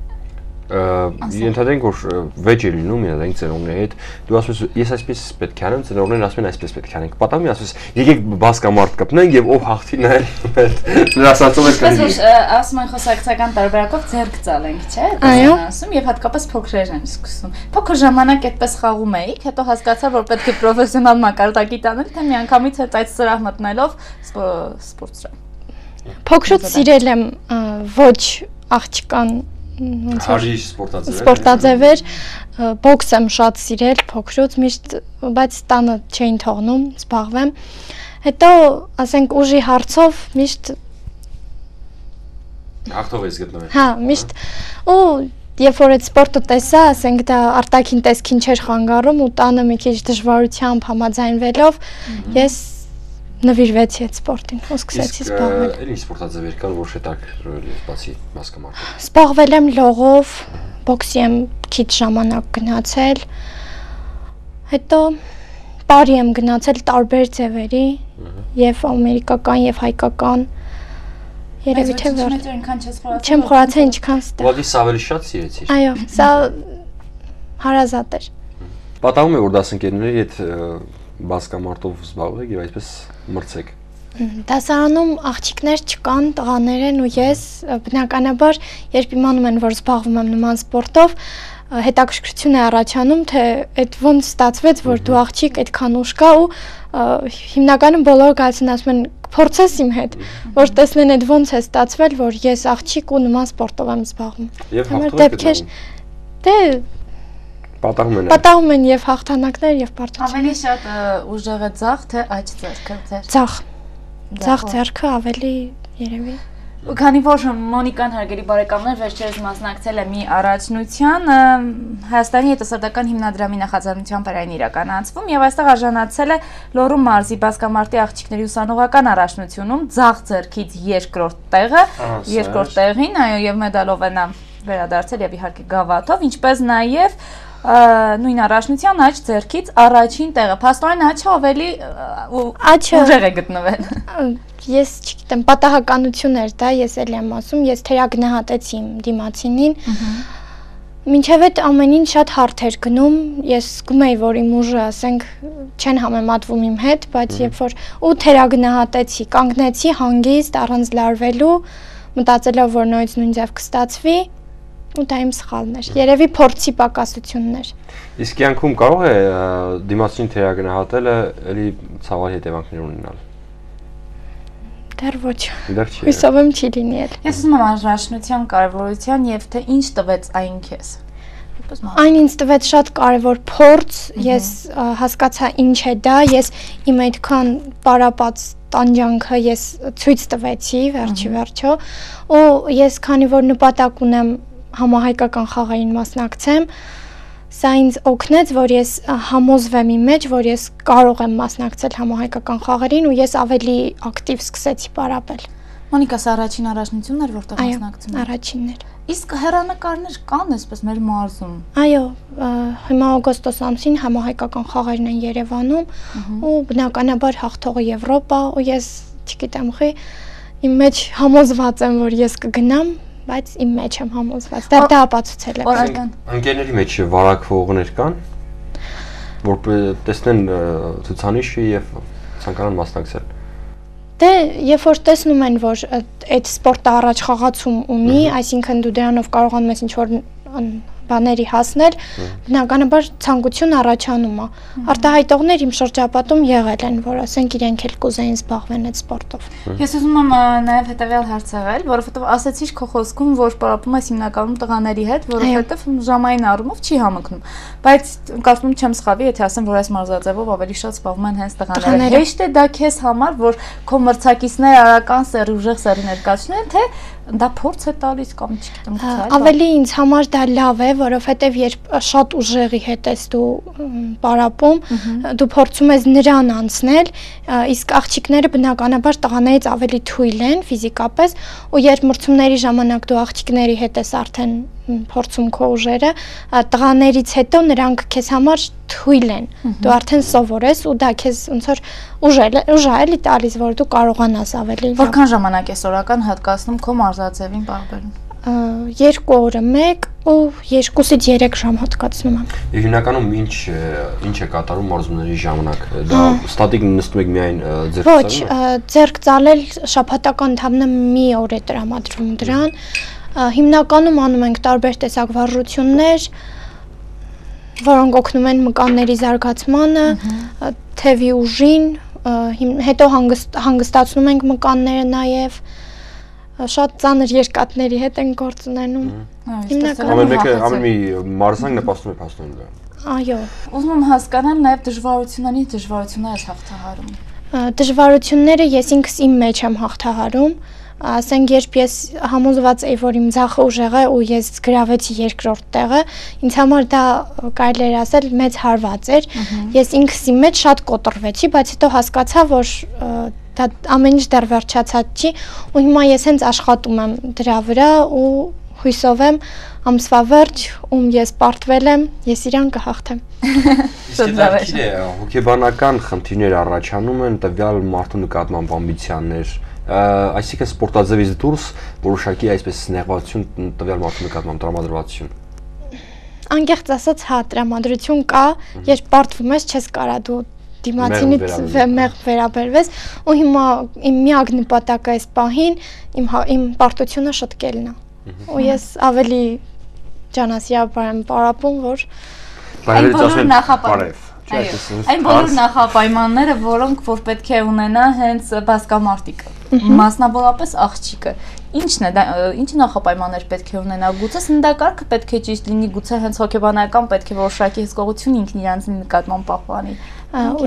Ենթադրենք որ վեճ է լինում, ենթադրենք ծնողների հետ, դու ասում ես ես այսպես պետք է անեմ, ծնողներն ասում են այսպես պետք է անենք։ Պատահում է ասում ես եկեք բասկամարտ կպնենք եւ ով հաղթի նայել նրա ասածով է կանի։ Ասում են խոսակցական տարբերակով ձեռք ծալենք, չէ՞։ Այո։ Ասում եւ հատկապես փոքրեր են սկսում։ Փոքր ժամանակ այդպես խաղում էիք, հետո հասկացա որ պետք է պրոֆեսիոնալ մակարդակի տանել, թե միանգամից հետ այդ սրահ մտնելով սպորտսրահ։ Փոքրուց սիրել եմ ոչ աղջկան Հարիշ սպորտաձև սպորտաձևեր, բոքս եմ շատ սիրել փոքրուց, միշտ, բայց տանը չէին թողնում զբաղվեմ։ Հետո, ասենք, ուժի հարցով միշտ հաղթող ես գտնվել։ Հա, միշտ ու երբ որ այդ սպորտը տեսա, ասենք դա արտաքին տեսքին չէր խանգարում ու տանը մի քիչ դժվարությամբ համաձայնվելով ես նվիրվեցի այդ սպորտին ու սկսեցի զբաղվել։ Իսկ էլի սպորտաձևեր կան, որ շետակրել ես բացի բասկամարտով։ Զբաղվել եմ լողով, բոքսի եմ քիչ ժամանակ գնացել։ Հետո տարի եմ գնացել տարբեր ձևերի, եւ ամերիկական եւ հայկական։ Երևի թե վեր։ Չեմ խորացել ինչքան ստա։ Ուղղակի սա ավելի շատ սիրեցիր։ Այո, սա հարազատ էր։ Պատահում է որ դասընկերների հետ բասկամարտով զբաղվեք եւ այսպես մրցեք։ Դասարանում աղջիկներ չկան, տղաներ են ու ես բնականաբար երբ իմանում են որ զբաղվում եմ նման սպորտով, հետաքրքրություն է առաջանում, թե այդ ոնց ստացվեց, որ դու աղջիկ այդքան ուժ կա ու հիմնականում բոլորը գալիս են ասում են փորձես իմ հետ, որ տեսնեն այդ ոնց է ստացվել, որ ես աղջիկ ու նման սպորտով եմ զբաղվում։ Եվ հաղթող եք։ Դե Պատահում են։ Պատահում են եւ հաղթանակներ եւ պարտություններ։ Ավելի շատ ուժեղ է ձախ թե աջ ձեռքը ձեր։ Ձախ։ Ձախ ձեռքը ավելի երևի։ Քանի որ Մոնիկան հարգելի բարեկամներ վերջերս մասնակցել է մի առաջնության Հայաստանի հետազոտական հիմնադրամի նախաձեռնությամբ էր այն իրականացվում եւ այստեղ արժանացել է Լոռու մարզի բասկամարտի աղջիկների ուսանողական առաջնությունում ձախ ձեռքից երկրորդ տեղը, երկրորդ տեղին, այո, եւ մեդալով է նա վերադարձել եւ իհարկե գավաթով, ինչպես նաեւ նույն առաջնության աջ ձեռքից առաջին տեղը։ Փաստորեն աչը ավելի ուժեղ է գտնվել։ Ես չգիտեմ, պատահականություն էր դա, ես էլ եմ ասում, ես թերագնահատեցի իմ դիմացինին։ Մինչև այդ ամեն ինչ շատ հարթ էր գնում, ես զգում էի, որ իմ ուժը, ասենք, չեն համեմատվում իմ հետ, բայց երբ որ ու թերագնահատեցի, կանգնեցի հանգիստ առանց լարվելու, մտածելով, որ նույնից նույն ձև կստացվի, ու դա իմ սխալն էր։ Երևի փորձի պակասություններ։ Իսկ կյանքում կարող է դիմացին թերագնահատելը էլի ցավալի հետևանքներ ունենալ։ Դեռ ոչ։ Դեռ չի։ Հույսով եմ չի լինի էլ։ Ես ուզում եմ առաջնության կարևորության եւ թե ինչ տվեց այն քեզ։ Այն ինձ տվեց շատ կարևոր փորձ, ես հասկացա ինչ է դա, ես իմ այդքան պարապած տանջանքը ես ցույց տվեցի վերջի վերջո, ու ես քանի որ նպատակ ունեմ համահայկական խաղային մասնակցեմ, Սա ինձ օգնեց, որ ես համոզվեմ իմ մեջ, որ ես կարող եմ մասնակցել համահայկական խաղերին ու ես ավելի ակտիվ սկսեցի պարապել։ Մոնիկա, սա առաջին առաջնությունն էր, որտեղ մասնակցում Այո, առաջինն էր։ Իսկ հեռանկարներ կան այսպես մեր մարզում։ Այո, հիմա օգոստոս ամսին համահայկական խաղերն են Երևանում ու բնականաբար հաղթողը Եվրոպա ու ես չգիտեմ խի իմ մեջ համոզված եմ, որ ես կգնամ, բայց իմ մեջ եմ համոզված։ Դա դա ապացուցել է։ Ընկերների մեջ վարակվողներ կան, որ տեսնեն ցուցանիշը եւ ցանկանան մասնակցել։ Դե, երբ որ տեսնում են, որ այդ սպորտը առաջ խաղացում ունի, այսինքն դու դրանով կարողանում ես ինչ-որ բաների հասնել, բնականաբար ցանկություն առաջանում է։ Արտահայտողներ իմ շրջապատում եղել են, որ ասենք իրենք էլ կուզեին զբաղվեն այդ սպորտով։ Ես ուզում եմ նաև հետևյալ հարց եղել, որովհետև ասացիր քո խոսքում, որ պարապում ես հիմնականում տղաների հետ, որովհետև ժամային առումով չի համընկնում։ Բայց կարծում չեմ սխալվի, եթե ասեմ, որ այս մարզաձևով ավելի շատ զբաղվում են հենց տղաները։ Հեշտ է դա քեզ համար, որ քո մրցակիցները արական սերի ուժեղ սերի ներկայացնեն, թե դա փորձ է տալիս կամ չգիտեմ գուցե։ Ավելի ինձ համար դա լավ է, որովհետև երբ շատ ուժեղի հետ ես դու պարապում, դու փորձում ես նրան անցնել, իսկ աղջիկները բնականաբար տղաներից ավելի թույլ են ֆիզիկապես, ու երբ մրցումների ժամանակ դու աղջիկների հետ ես արդեն փորձում քո ուժերը, տղաներից հետո նրանք քեզ համար թույլ են։ Դու արդեն սովոր ես ու դա քեզ ոնց որ ուժ է էլի տալիս, որ դու կարողանաս ավելի։ Որքան ժամանակ ես օրական հատկացնում քո մարզաձևին պարբերում։ Երկու օրը մեկ ու երկուսից երեք ժամ հատկացնում եմ։ Եվ հիմնականում ինչ ինչ է կատարում մարզումների ժամանակ։ Դա ստատիկ նստում եք միայն ձեռք ծալում։ Ոչ, ձեռք ծալել շաբաթական ընդամենը մի օր է տրամադրվում դրան։ Հիմնականում անում ենք տարբեր տեսակ վարժություններ, որոնք օգնում են մկանների զարգացմանը, թևի ուժին, հետո հանգստացնում ենք մկանները նաև, շատ ծանր երկաթների հետ են գործ ունենում։ Ամեն մեկը ամեն մի մարզանք նպաստում է փաստորեն դա։ Այո։ Ուզում եմ հասկանալ նաև դժվարությունների դժվարությունները ես հաղթահարում։ Դժվարությունները ես ինքս իմ մեջ եմ հաղթահարում։ Ասենք երբ ես համոզված էի, որ իմ ձախը ուժեղ է ու ես գրավեցի երկրորդ տեղը, ինձ համար դա կարելի է ասել մեծ հարված էր։ Ես ինքս իմ մեջ շատ կոտրվեցի, բայց հետո հասկացա, որ դա ամեն ինչ դեռ վերջացած չի ու հիմա ես հենց աշխատում եմ դրա վրա ու հույսով եմ ամսվա վերջ, ում ես պարտվել եմ, ես իրան կհաղթեմ։ Իսկ դա քիչ է, հոգեբանական խնդիրներ առաջանում են տվյալ մարդու նկատմամբ ամբիցիաներ, այսինքն սպորտաձևից դուրս որոշակի այսպես նեղվածություն տվյալ մարդու նկատմամբ տրամադրվածություն։ Անկեղծ ասած, հա, տրամադրություն կա, երբ պարտվում ես, չես կարա դու դիմացինից մեղ վերաբերվես, ու հիմա իմ միակ նպատակը այս պահին իմ իմ պարտությունը շտկելն է։ Ու ես ավելի ջանասիրաբար եմ պարապում, որ այն բոլոր նախապայմանները Այն բոլոր նախապայմանները, որոնք որ պետք է ունենա հենց բասկամարտիկը, մասնավորապես աղջիկը։ Ինչն է, ինչ նախապայմաններ պետք է ունենա, գուցե սննդակարգը պետք է ճիշտ լինի, գուցե հենց հոգեբանական պետք է որոշակի հսկողություն ինքն իրանց նկատմամբ պահպանի։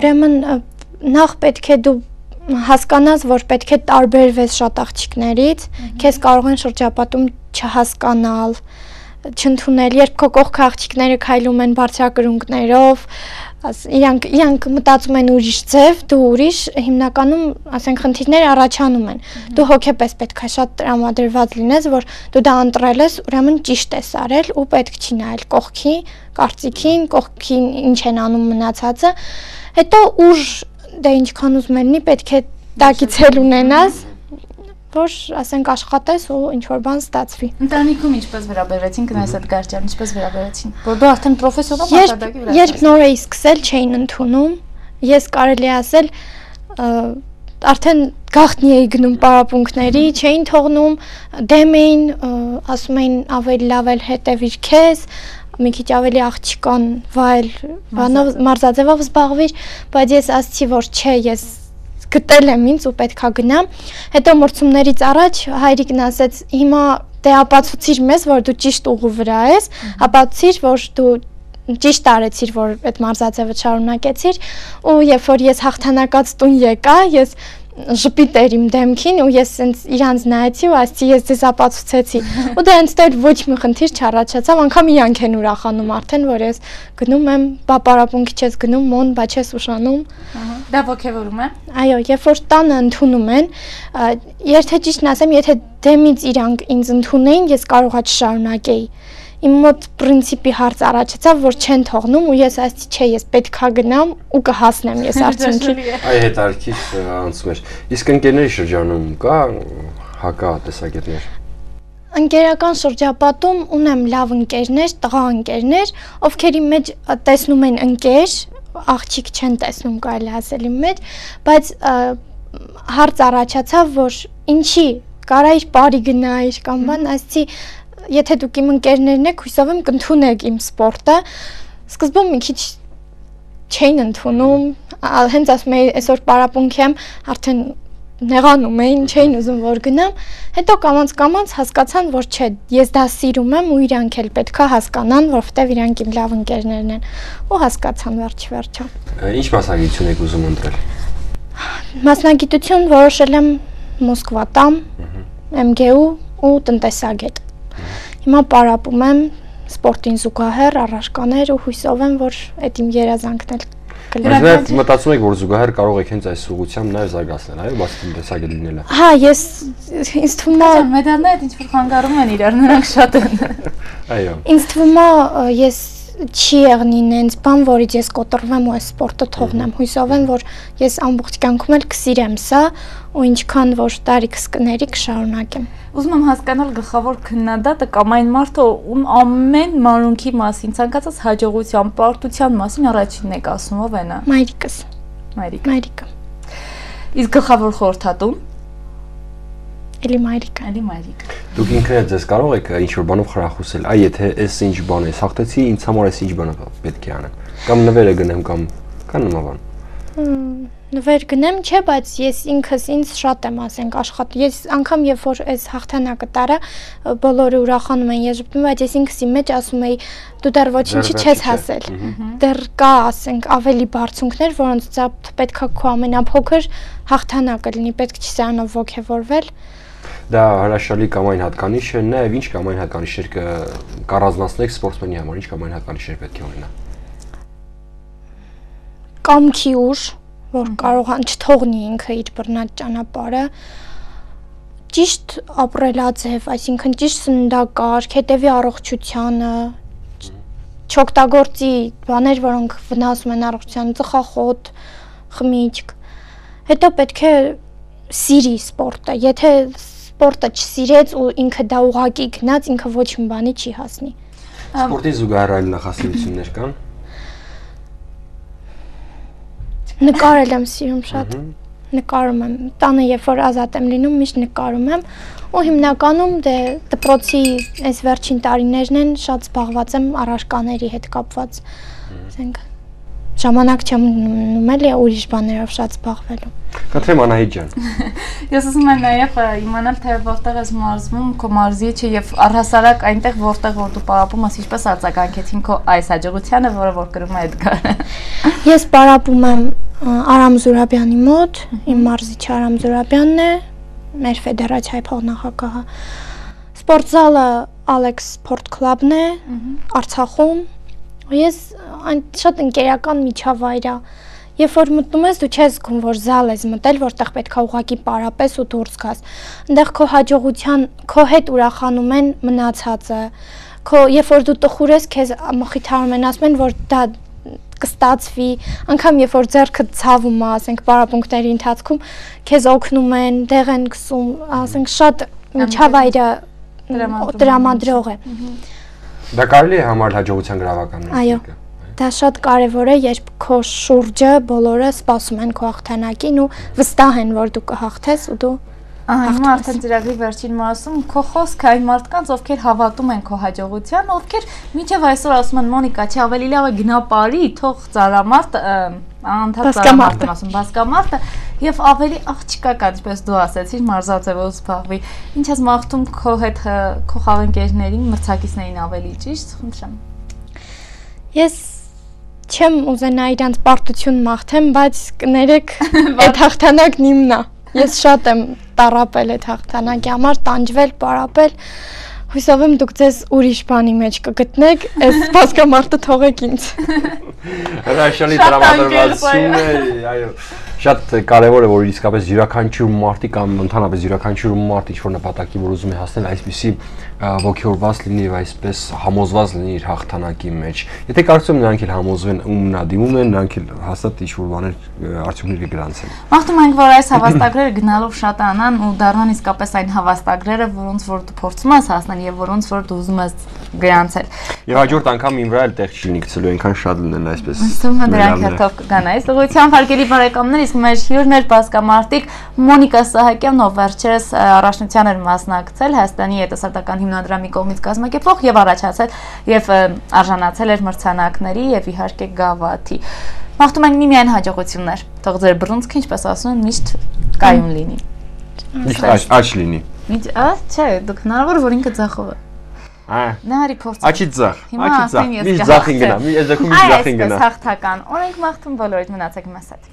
Ուրեմն նախ պետք է դու հասկանաս, որ պետք է տարբերվես շատ աղջիկներից, քեզ կարող են շրջապատում չհասկանալ, չընդունել, երբ քո կողքը աղջիկները քայլում են բարձրակրունկներով, իրանք իրանք մտածում են ուրիշ ձև, դու ուրիշ, հիմնականում, ասենք, խնդիրները առաջանում են։ Դու հոգեպես պետք է շատ տրամադրված լինես, որ դու դա ընտրել ես, ուրեմն ճիշտ ես արել ու պետք չի նայել կողքի, կարծիքին, կողքին ինչ են անում մնացածը։ Հետո ուժ, դե ինչքան ուզում ելնի, պետք է տակից էլ ունենաս, որ ասենք աշխատես ու ինչ-որ բան ստացվի։ Ընտանիքում ինչպես վերաբերվեցին Գնայս Էդգարյան, ինչպես վերաբերեցին։ Որ դու արդեն պրոֆեսիոնալ մակարդակի վրա ես։ Երբ նոր էի սկսել, չէին ընդունում։ Ես կարելի ասել արդեն գաղտնի էի գնում պարապմունքների, չէին թողնում, դեմ էին, ասում էին ավելի լավ էլ հետևիր քեզ, մի քիչ ավելի աղջկան վայել, բանով մարզաձևով զբաղվիր, բայց ես ասացի, որ չէ, ես գտել եմ ինձ ու պետքա գնամ։ Հետո մրցումներից առաջ հայրիկն ասեց, հիմա դե ապացուցիր մեզ, որ դու ճիշտ ուղու վրա ես, ապացուցիր, որ դու ճիշտ արեցիր, որ այդ մարզաձևը շարունակեցիր, ու երբ որ ես հաղթանակած տուն եկա, ես ժպիտ էր իմ դեմքին ու ես սենց իրանց նայեցի ու ասացի ես ձեզ ապացուցեցի ու դա հենց դեռ ոչ մի խնդիր չառաջացավ, անգամ իրանք են ուրախանում արդեն, որ ես գնում եմ, բա պարապմունքի չես գնում, մոն, բա չես ուշանում։ Դա ոգևորում է։ Այո, երբ որ տանը ընդունում են, եթե ճիշտն ասեմ, եթե դեմից իրանք ինձ ընդունեին, ես կարողա չշարունակեի։ Իմ մոտ պրինցիպի հարց առաջացավ, որ չեն թողնում ու ես ասացի, չէ, ես պետքա գնամ ու կհասնեմ ես արդյունքի։ Այ հետարքից անցում էր։ Իսկ ընկերների շրջանում կա հակատեսակետներ։ Ընկերական շրջապատում ունեմ լավ ընկերներ, տղա ընկերներ, ովքեր իմ մեջ տեսնում են ընկեր, աղջիկ չեն տեսնում, կարելի ասել իմ մեջ, բայց հարց առաջացավ, որ ինչի կարա իր բարի գնայր կամ բան, ասեցի եթե դուք իմ ընկերներն եք, հույսով եմ կընդունեք իմ սպորտը, սկզբում մի քիչ չէին ընդունում, հենց ասում էի այսօր պարապմունքի եմ, արդեն նեղանում էին, չէին ուզում որ գնամ, հետո կամաց-կամաց հասկացան, որ չէ, ես դա սիրում եմ ու իրանք էլ պետքա հասկանան, որովհետև իրանք իմ լավ ընկերներն են, ու հասկացան վերջ-վերջը։ Ինչ մասնագիտություն եք ուզում ընտրել։ Մասնագիտություն որոշել եմ Մոսկվա տամ, Էմ Գե Ու ու տնտեսագետ։ Հիմա պարապում եմ սպորտին զուգահեռ առարկաներ ու հույսով եմ, որ այդ իմ երազանքն էլ կլինի։ Մտածում եք, որ զուգահեռ կարող եք հենց այս ուղղությամբ նաև զարգացնել, այո, բացի տնտեսագետ լինելը։ Հա, ես ինձ թվում է մեդալները ինչ որ խանգարում են իրար, նրանք շատ են։ Այո։ Ինձ թվում է ես չի եղնի նենց բան, որից ես կոտրվեմ ու այս սպորտը թողնեմ, հույսով եմ, որ ես ամբողջ կյանքում էլ կսիրեմ սա ու ինչքան որ տարիքս կների կշարունակեմ։ Ուզում եմ հասկանալ գլխավոր քննադատը կամ այն մարդը, ում ամեն մանրունքի մասին, ցանկացած հաջողության, պարտության մասին առաջինն եք ասում, ով է նա։ Մայրիկս։ Մայրիկը։ Մայրիկը։ Իսկ գլխավոր խորհրդատուն։ Էլի մայրիկը։ Էլի մայրիկը։ Դուք ինքներդ ձեզ կարող եք ինչ-որ բանով խրախուսել, այ եթե այս ինչ բան է, հաղթեցի, ինձ համար այս ինչ բանը պետք է անեմ։ Կամ նվեր է գնեմ կամ կան նման բան։ Նվեր գնեմ, չէ, բայց ես ինքս ինձ շատ եմ ասենք աշխատում։ Ես անգամ երբ որ այս հաղթանակը տարա, բոլորը ուրախանում են, ես ժպտում, բայց ես ինքս իմ մեջ ասում էի, դու դեռ ոչինչի չես հասել։ Դեռ կա, ասենք, ավելի բարձունքներ, որոնց պետքա քո ամենափոքր հաղթանակը լինի, պետք չի սրանով ոգևորվել։ Դա հրաշալի կամ այն հատկանիշ է, նաև ինչ կամ այն հատկանիշներ կառանձնացնեք սպորտսմենի համար, ինչ կամ այն հատկանիշներ պետք է ունենա։ Կամքի ուժ, որ կարողան չթողնի ինքը իր բռնած ճանապարհը, ճիշտ ապրելաձև, այսինքն ճիշտ սննդակարգ, հետևի առողջությանը, չօգտագործի բաներ, որոնք վնասում են առողջությանը, ծխախոտ, խմիչք։ Հետո պետք է սիրի սպորտը, եթե սպորտը չսիրեց ու ինքը դա ուղակի գնաց, ինքը ոչ մի բանի չի հասնի։ Սպորտի զուգահեռ այլ նախասիրություններ կան։ Նկարել եմ սիրում շատ, նկարում եմ, տանը երբ որ ազատ եմ լինում, միշտ նկարում եմ ու հիմնականում դե դպրոցի այս վերջին տարիներն են շատ զբաղված եմ առարկաների հետ կապված, ասենք ժամանակ չեմ ունում էլի ուրիշ բաներով շատ զբաղվելու։ Կտրեմ Անահիտ ջան։ Ես ուզում եմ նաև իմանալ, թե որտեղ ես մարզվում, քո մարզիչ է եւ առհասարակ այնտեղ որտեղ որ դու պարապում ես, ինչպես արձագանքեցին քո այս հաջողությանը, որը որ կրում է Էդգարը։ Ես պարապում եմ Արամ Զուրաբյանի մոտ, իմ մարզիչը Արամ Զուրաբյանն է, մեր ֆեդերացիայի փոխնախագահը։ Սպորտզալը Alex Sport Club-ն է, Արցախում։ Ես այն շատ ընկերական միջավայր է։ Երբ որ մտնում ես, դու չես զգում, որ զալ ես մտել, որտեղ պետք է ուղղակի պարապես ու դուրս գաս։ Այնտեղ քո հաջողության, քո հետ ուրախանում են մնացածը։ Քո երբ որ դու տխուր ես, քեզ մխիթարում են, ասում են, որ դա կստացվի, անգամ երբ որ ձեռքը ցավում է, ասենք պարապմունքների ընթացքում, քեզ օգնում են, դեղ են գցում, ասենք շատ միջավայրը տրամադրող է։ Դա կարելի է համարել հաջողության գրավականն։ Այո, դա շատ կարևոր է, երբ քո շուրջը բոլորը սպասում են քո հաղթանակին ու վստահ են, որ դու կհաղթես ու դու Ահա, հիմա արդեն ծրագրի վերջին մասում քո խոսքը այն մարդկանց, ովքեր հավատում են քո հաջողության, ովքեր մինչև այսօր ասում են Մոնիկա, չի ավելի լավ է գնա բարի, թող ծարամարտ, անդադ ծարամարտ եմ ասում, բասկամարտը եւ ավելի աղջկա կա, ինչպես դու ասեցիր, մարզաձևով զբաղվի։ Ինչ ես մաղթում քո հետ քո խաղընկերներին, մրցակիցներին ավելի ճիշտ, խնդրեմ։ Ես չեմ ուզենա իրանց պարտություն մաղթեմ, բայց կներեք, այդ հաղթանակն իմն է։ Ես շատ եմ տառապել այդ հաղթանակի համար, տանջվել, պարապել։ Հույսով եմ դուք ձեզ ուրիշ բանի մեջ կգտնեք, այս բասկամարտը թողեք ինձ։ Հրաշալի տրամադրվածություն է, այո։ Շատ կարևոր է, որ իսկապես յուրաքանչյուր մարդի կամ ընդհանրապես յուրաքանչյուր մարդ ինչ-որ նպատակի, որ ուզում է հասնել, այսպիսի ոգևորված լինի եւ այսպես համոզված լինի իր հաղթանակի մեջ։ Եթե կարծում նրանք էլ համոզվեն ու նա դիմում են, նրանք էլ հաստատ ինչ-որ բաներ արդյունքներ կգրանցեն։ Մաղթում ենք, որ այս հավաստագրերը գնալով շատանան ու դառնան իսկապես այն հավաստագրերը, որոնց որ դու փորձում ես հասնել եւ որոնց որ դու ուզում ես գրանցել։ Եվ հաջորդ անգամ իմ վրա էլ տեղ չի գցելու, այնքան շատ լինեն այսպես։ Ըստ դրանք հերթով կգան այս ուղղությամբ հարգելի բարեկամներ, իսկ մեր հյուրն էր բասկամարտիկ Մոնիկա Սահակյանն, ով վերջերս առաջնության էր մասնակցել Հայաստանի երիտասարդական հիմնադրամի կողմից կազմակերպվող եւ առաջացել եւ արժանացել էր մրցանակների եւ իհարկե գավաթի։ Մաղթում ենք միմիայն հաջողություններ, թող ձեր բռունցքը, ինչպես ասում են, միշտ կայուն լինի։ Միշտ աճ լինի։ Միշտ, ա, չէ, դուք հնարավոր որ ինքը ձախով է։ Ա։ Նարի փորձ։ Աճի ձախ, Հիմա աճի ձախ։ ասեն ես Միշտ ձախին գնա, մի այս դեպքում միշտ ձախին գնա։ Այս հաղթական։ Օրենք մաղթում բոլորիդ մնացեք մեզ հետ։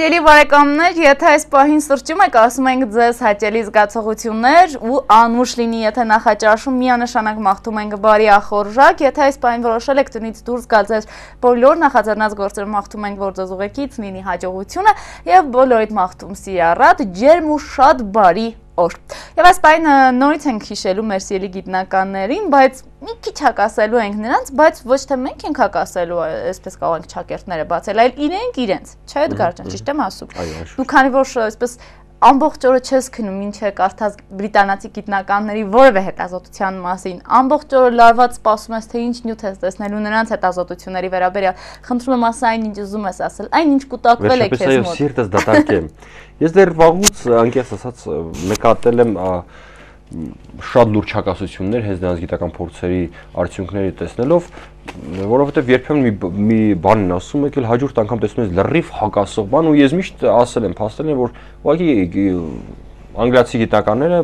Սիրելի բարեկամներ, եթե այս պահին սրճում եք, ասում ենք ձեզ հաճելի զգացողություններ ու անուշ լինի, եթե նախաճաշում միանշանակ մաղթում ենք բարի ախորժակ, եթե այս պահին որոշել եք տնից դուրս գալ ձեր բոլոր նախաձեռնած գործերը մաղթում ենք, որ ձեզ ուղեկից լինի հաջողությունը եւ բոլորիդ մաղթում սիրառատ, ջերմ ու շատ բարի օր։ Եվ այս պահին նորից ենք հիշելու մեր սիրելի գիտնականներին, բայց մի քիչ հակասելու ենք նրանց, բայց ոչ թե մենք ենք հակասելու, այսպես կարող ենք ճակերտները բացել, այլ իրենք իրենց, չէ՞ Էդգար ջան, ճիշտ եմ ասում։ Դու քանի որ այսպես ամբողջ օրը չես քնում, ինչ է կարդաց բրիտանացի գիտնականների որևէ հետազոտության մասին, ամբողջ օրը լարված սպասում ես, թե ինչ նյութ ես տեսնելու նրանց հետազոտությունների վերաբերյալ, խնդրում եմ ասա այն ինչ ուզում ես ասել, այն ինչ կուտակվել է քեզ մոտ։ Սիրտս դատարկեմ։ Ես դեռ վաղուց անկեղծ ասած նկատել եմ շատ լուրջ հակասություններ հենց նրանց գիտական փորձերի արդյունքները տեսնելով, որովհետև երբեմն մի մի բան են ասում, եկել հաջորդ անգամ տեսնում ես լրիվ հակասող բան ու ես միշտ ասել եմ, փաստել եմ, որ ուղղակի անգլիացի գիտնականները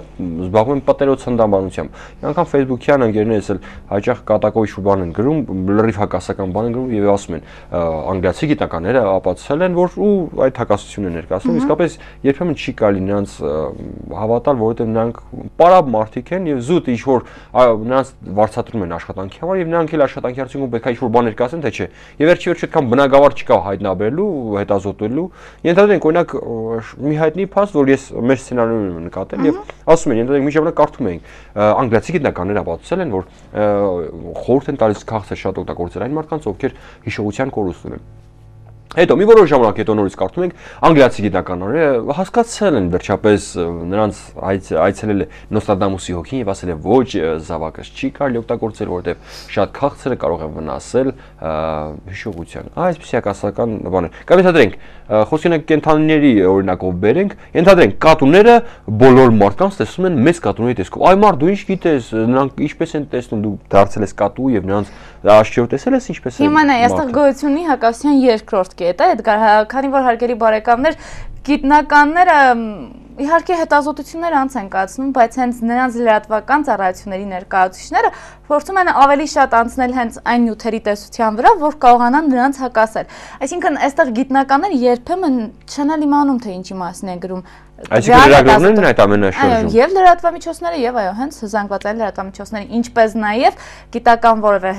զբաղվում են պատերոց հնդամբանությամբ։ Անգամ Facebook-յան ընկերներս էլ հաճախ կատակով ինչ-որ բան են գրում, լրիվ հակասական բան են գրում եւ ասում են անգլիացի գիտնականները ապացուցել են, որ ու այդ հակասությունն են ներկայացնում, իսկապես երբեմն չի կարելի նրանց հավատալ, որովհետեւ նրանք պարապ մարդիկ են եւ զուտ ինչ-որ նրանց վարձատրում են աշխատանքի համար եւ նրանք էլ աշխատանքի արդյունքում պետք է ինչ-որ բան ներկայացնեն, թե չէ։ Եվ վերջի վերջո այդքան բնագավառ չկա հայտնաբերելու, հետազոտելու։ Ենթադրենք օրինակ մի հայտնի փաստ, որ ես մեր սցենարում նկատել եւ ասում են, ենթադրենք մի ժամանակ կարդում էինք անգլիացի գիտնականները ապացուցել են, որ խորհուրդ են տալիս քաղցը շատ օգտագործել այն մարդկանց, ովքեր հիշողության կորուստ ունեն։ Հետո մի որոշ ժամանակ հետո նորից կարդում ենք անգլիացի գիտնականները հասկացել են վերջապես նրանց այցելել է Նոստրադամուսի հոգին եւ ասել է ոչ զավակս չի կարելի օգտագործել, որովհետեւ շատ քաղցր է կարող է վնասել հիշողության։ Այսպեսի հակասական բաներ։ Կամ ենթադրենք խոսքին ենք կենթանիների օրինակով բերենք, ենթադրենք կատուները բոլոր մարդկանց տեսնում են մեծ կատուների տեսքով։ Այ մարդ դու ինչ գիտես, նրանք ինչպես են տեսնում, դու դարձել ես կատու եւ նրանց աչքերով տեսել ես ինչպես է։ Հիմա նա այստեղ գոյությունի հակասության երկրորդ կետ է, Էդգար, քանի որ հարգելի բարեկամներ, գիտնականները իհարկե հետազոտություններ անց են կացնում, բայց հենց նրանց լրատվական ծառայությունների ներկայացուցիչները փորձում են ավելի շատ անցնել հենց այն նյութերի տեսության վրա, որ կարողանան նրանց հակասել։ Այսինքն, այստեղ գիտնականները երբեմն չեն իմանում, թե ինչի մասին են գրում։ Այսինքն լրագրողներն են այդ ամենը շրջում։ Եվ լրատվամիջոցները, եւ այո, հենց զանգվածային լրատվամիջոցները, ինչպես նաեւ գիտական որևէ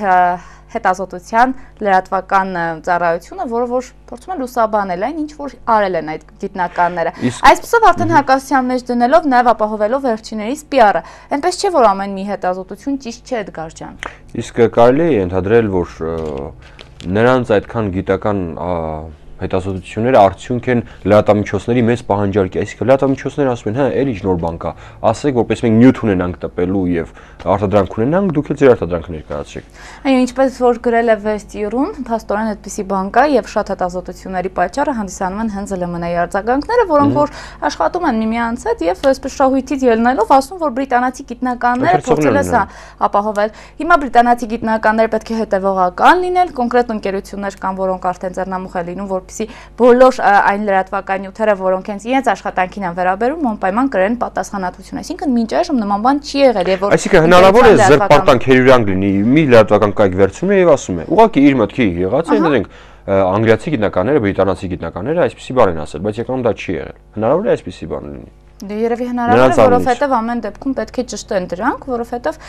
հետազոտության լրատվական ծառայությունը, որը որ փորձում են լուսաբանել այն, ինչ որ արել են այդ գիտնականները։ Այսպեսով արդեն հակասության մեջ դնելով նաև ապահովելով վերջիներիս պի ար-ը։ Այնպես չէ, որ ամեն մի հետազոտություն ճիշտ չէ, Էդգար ջան։ Իսկ կարելի է ընդհանրել, որ նրանց այդքան գիտական հետազոտությունները արդյունք են լրատվամիջոցների մեծ պահանջարկի, այսինքն լրատվամիջոցները ասում են, հա, էլի ինչ նոր բան կա, ասեք, որպես մենք նյութ ունենանք տպելու եւ արտադրանք ունենանք, դուք էլ ձեր արտադրանքը ներկայացրեք։ Այո, ինչպես որ գրել է Վեստիրուն, փաստորեն այդպիսի բան կա եւ շատ հետազոտությունների պատճառը հանդիսանում են հենց Էլ Էմ Էն-ի արձագանքները, որոնք որ աշխատում են միմյանց հետ եւ այսպես շահույթից ելնելով ասում, որ բրիտանացի գիտնականները փորձել են ապահովել։ Հիմա բրիտանացի գիտնականները պետք է հետեւողական լինել, կոնկրետ ընկերություններ կան, որոնք արդեն ձեռնամուխ են լինում, որ որպեսզի բոլոր այն լրատվական նյութերը, որոնք հենց իրենց աշխատանքին են վերաբերում, անպայման կրեն պատասխանատվություն։ Այսինքն մինչ այժմ նման բան չի եղել եւ որ Այսինքն հնարավոր է զրպարտանք հերյուրանք լինի, մի լրատվական կայք վերցնում է եւ ասում է. ուղղակի իր մտքի եղած է, այնտեղ անգլիացի գիտնականները, բրիտանացի գիտնականները այսպեսի բան են ասել, բայց եկանում դա չի եղել։ Հնարավոր է այսպեսի բան լինի։ Դե երևի հնարավոր է, որովհետեւ ամեն դեպքում պետք է ճշտեն դրանք, որովհետեւ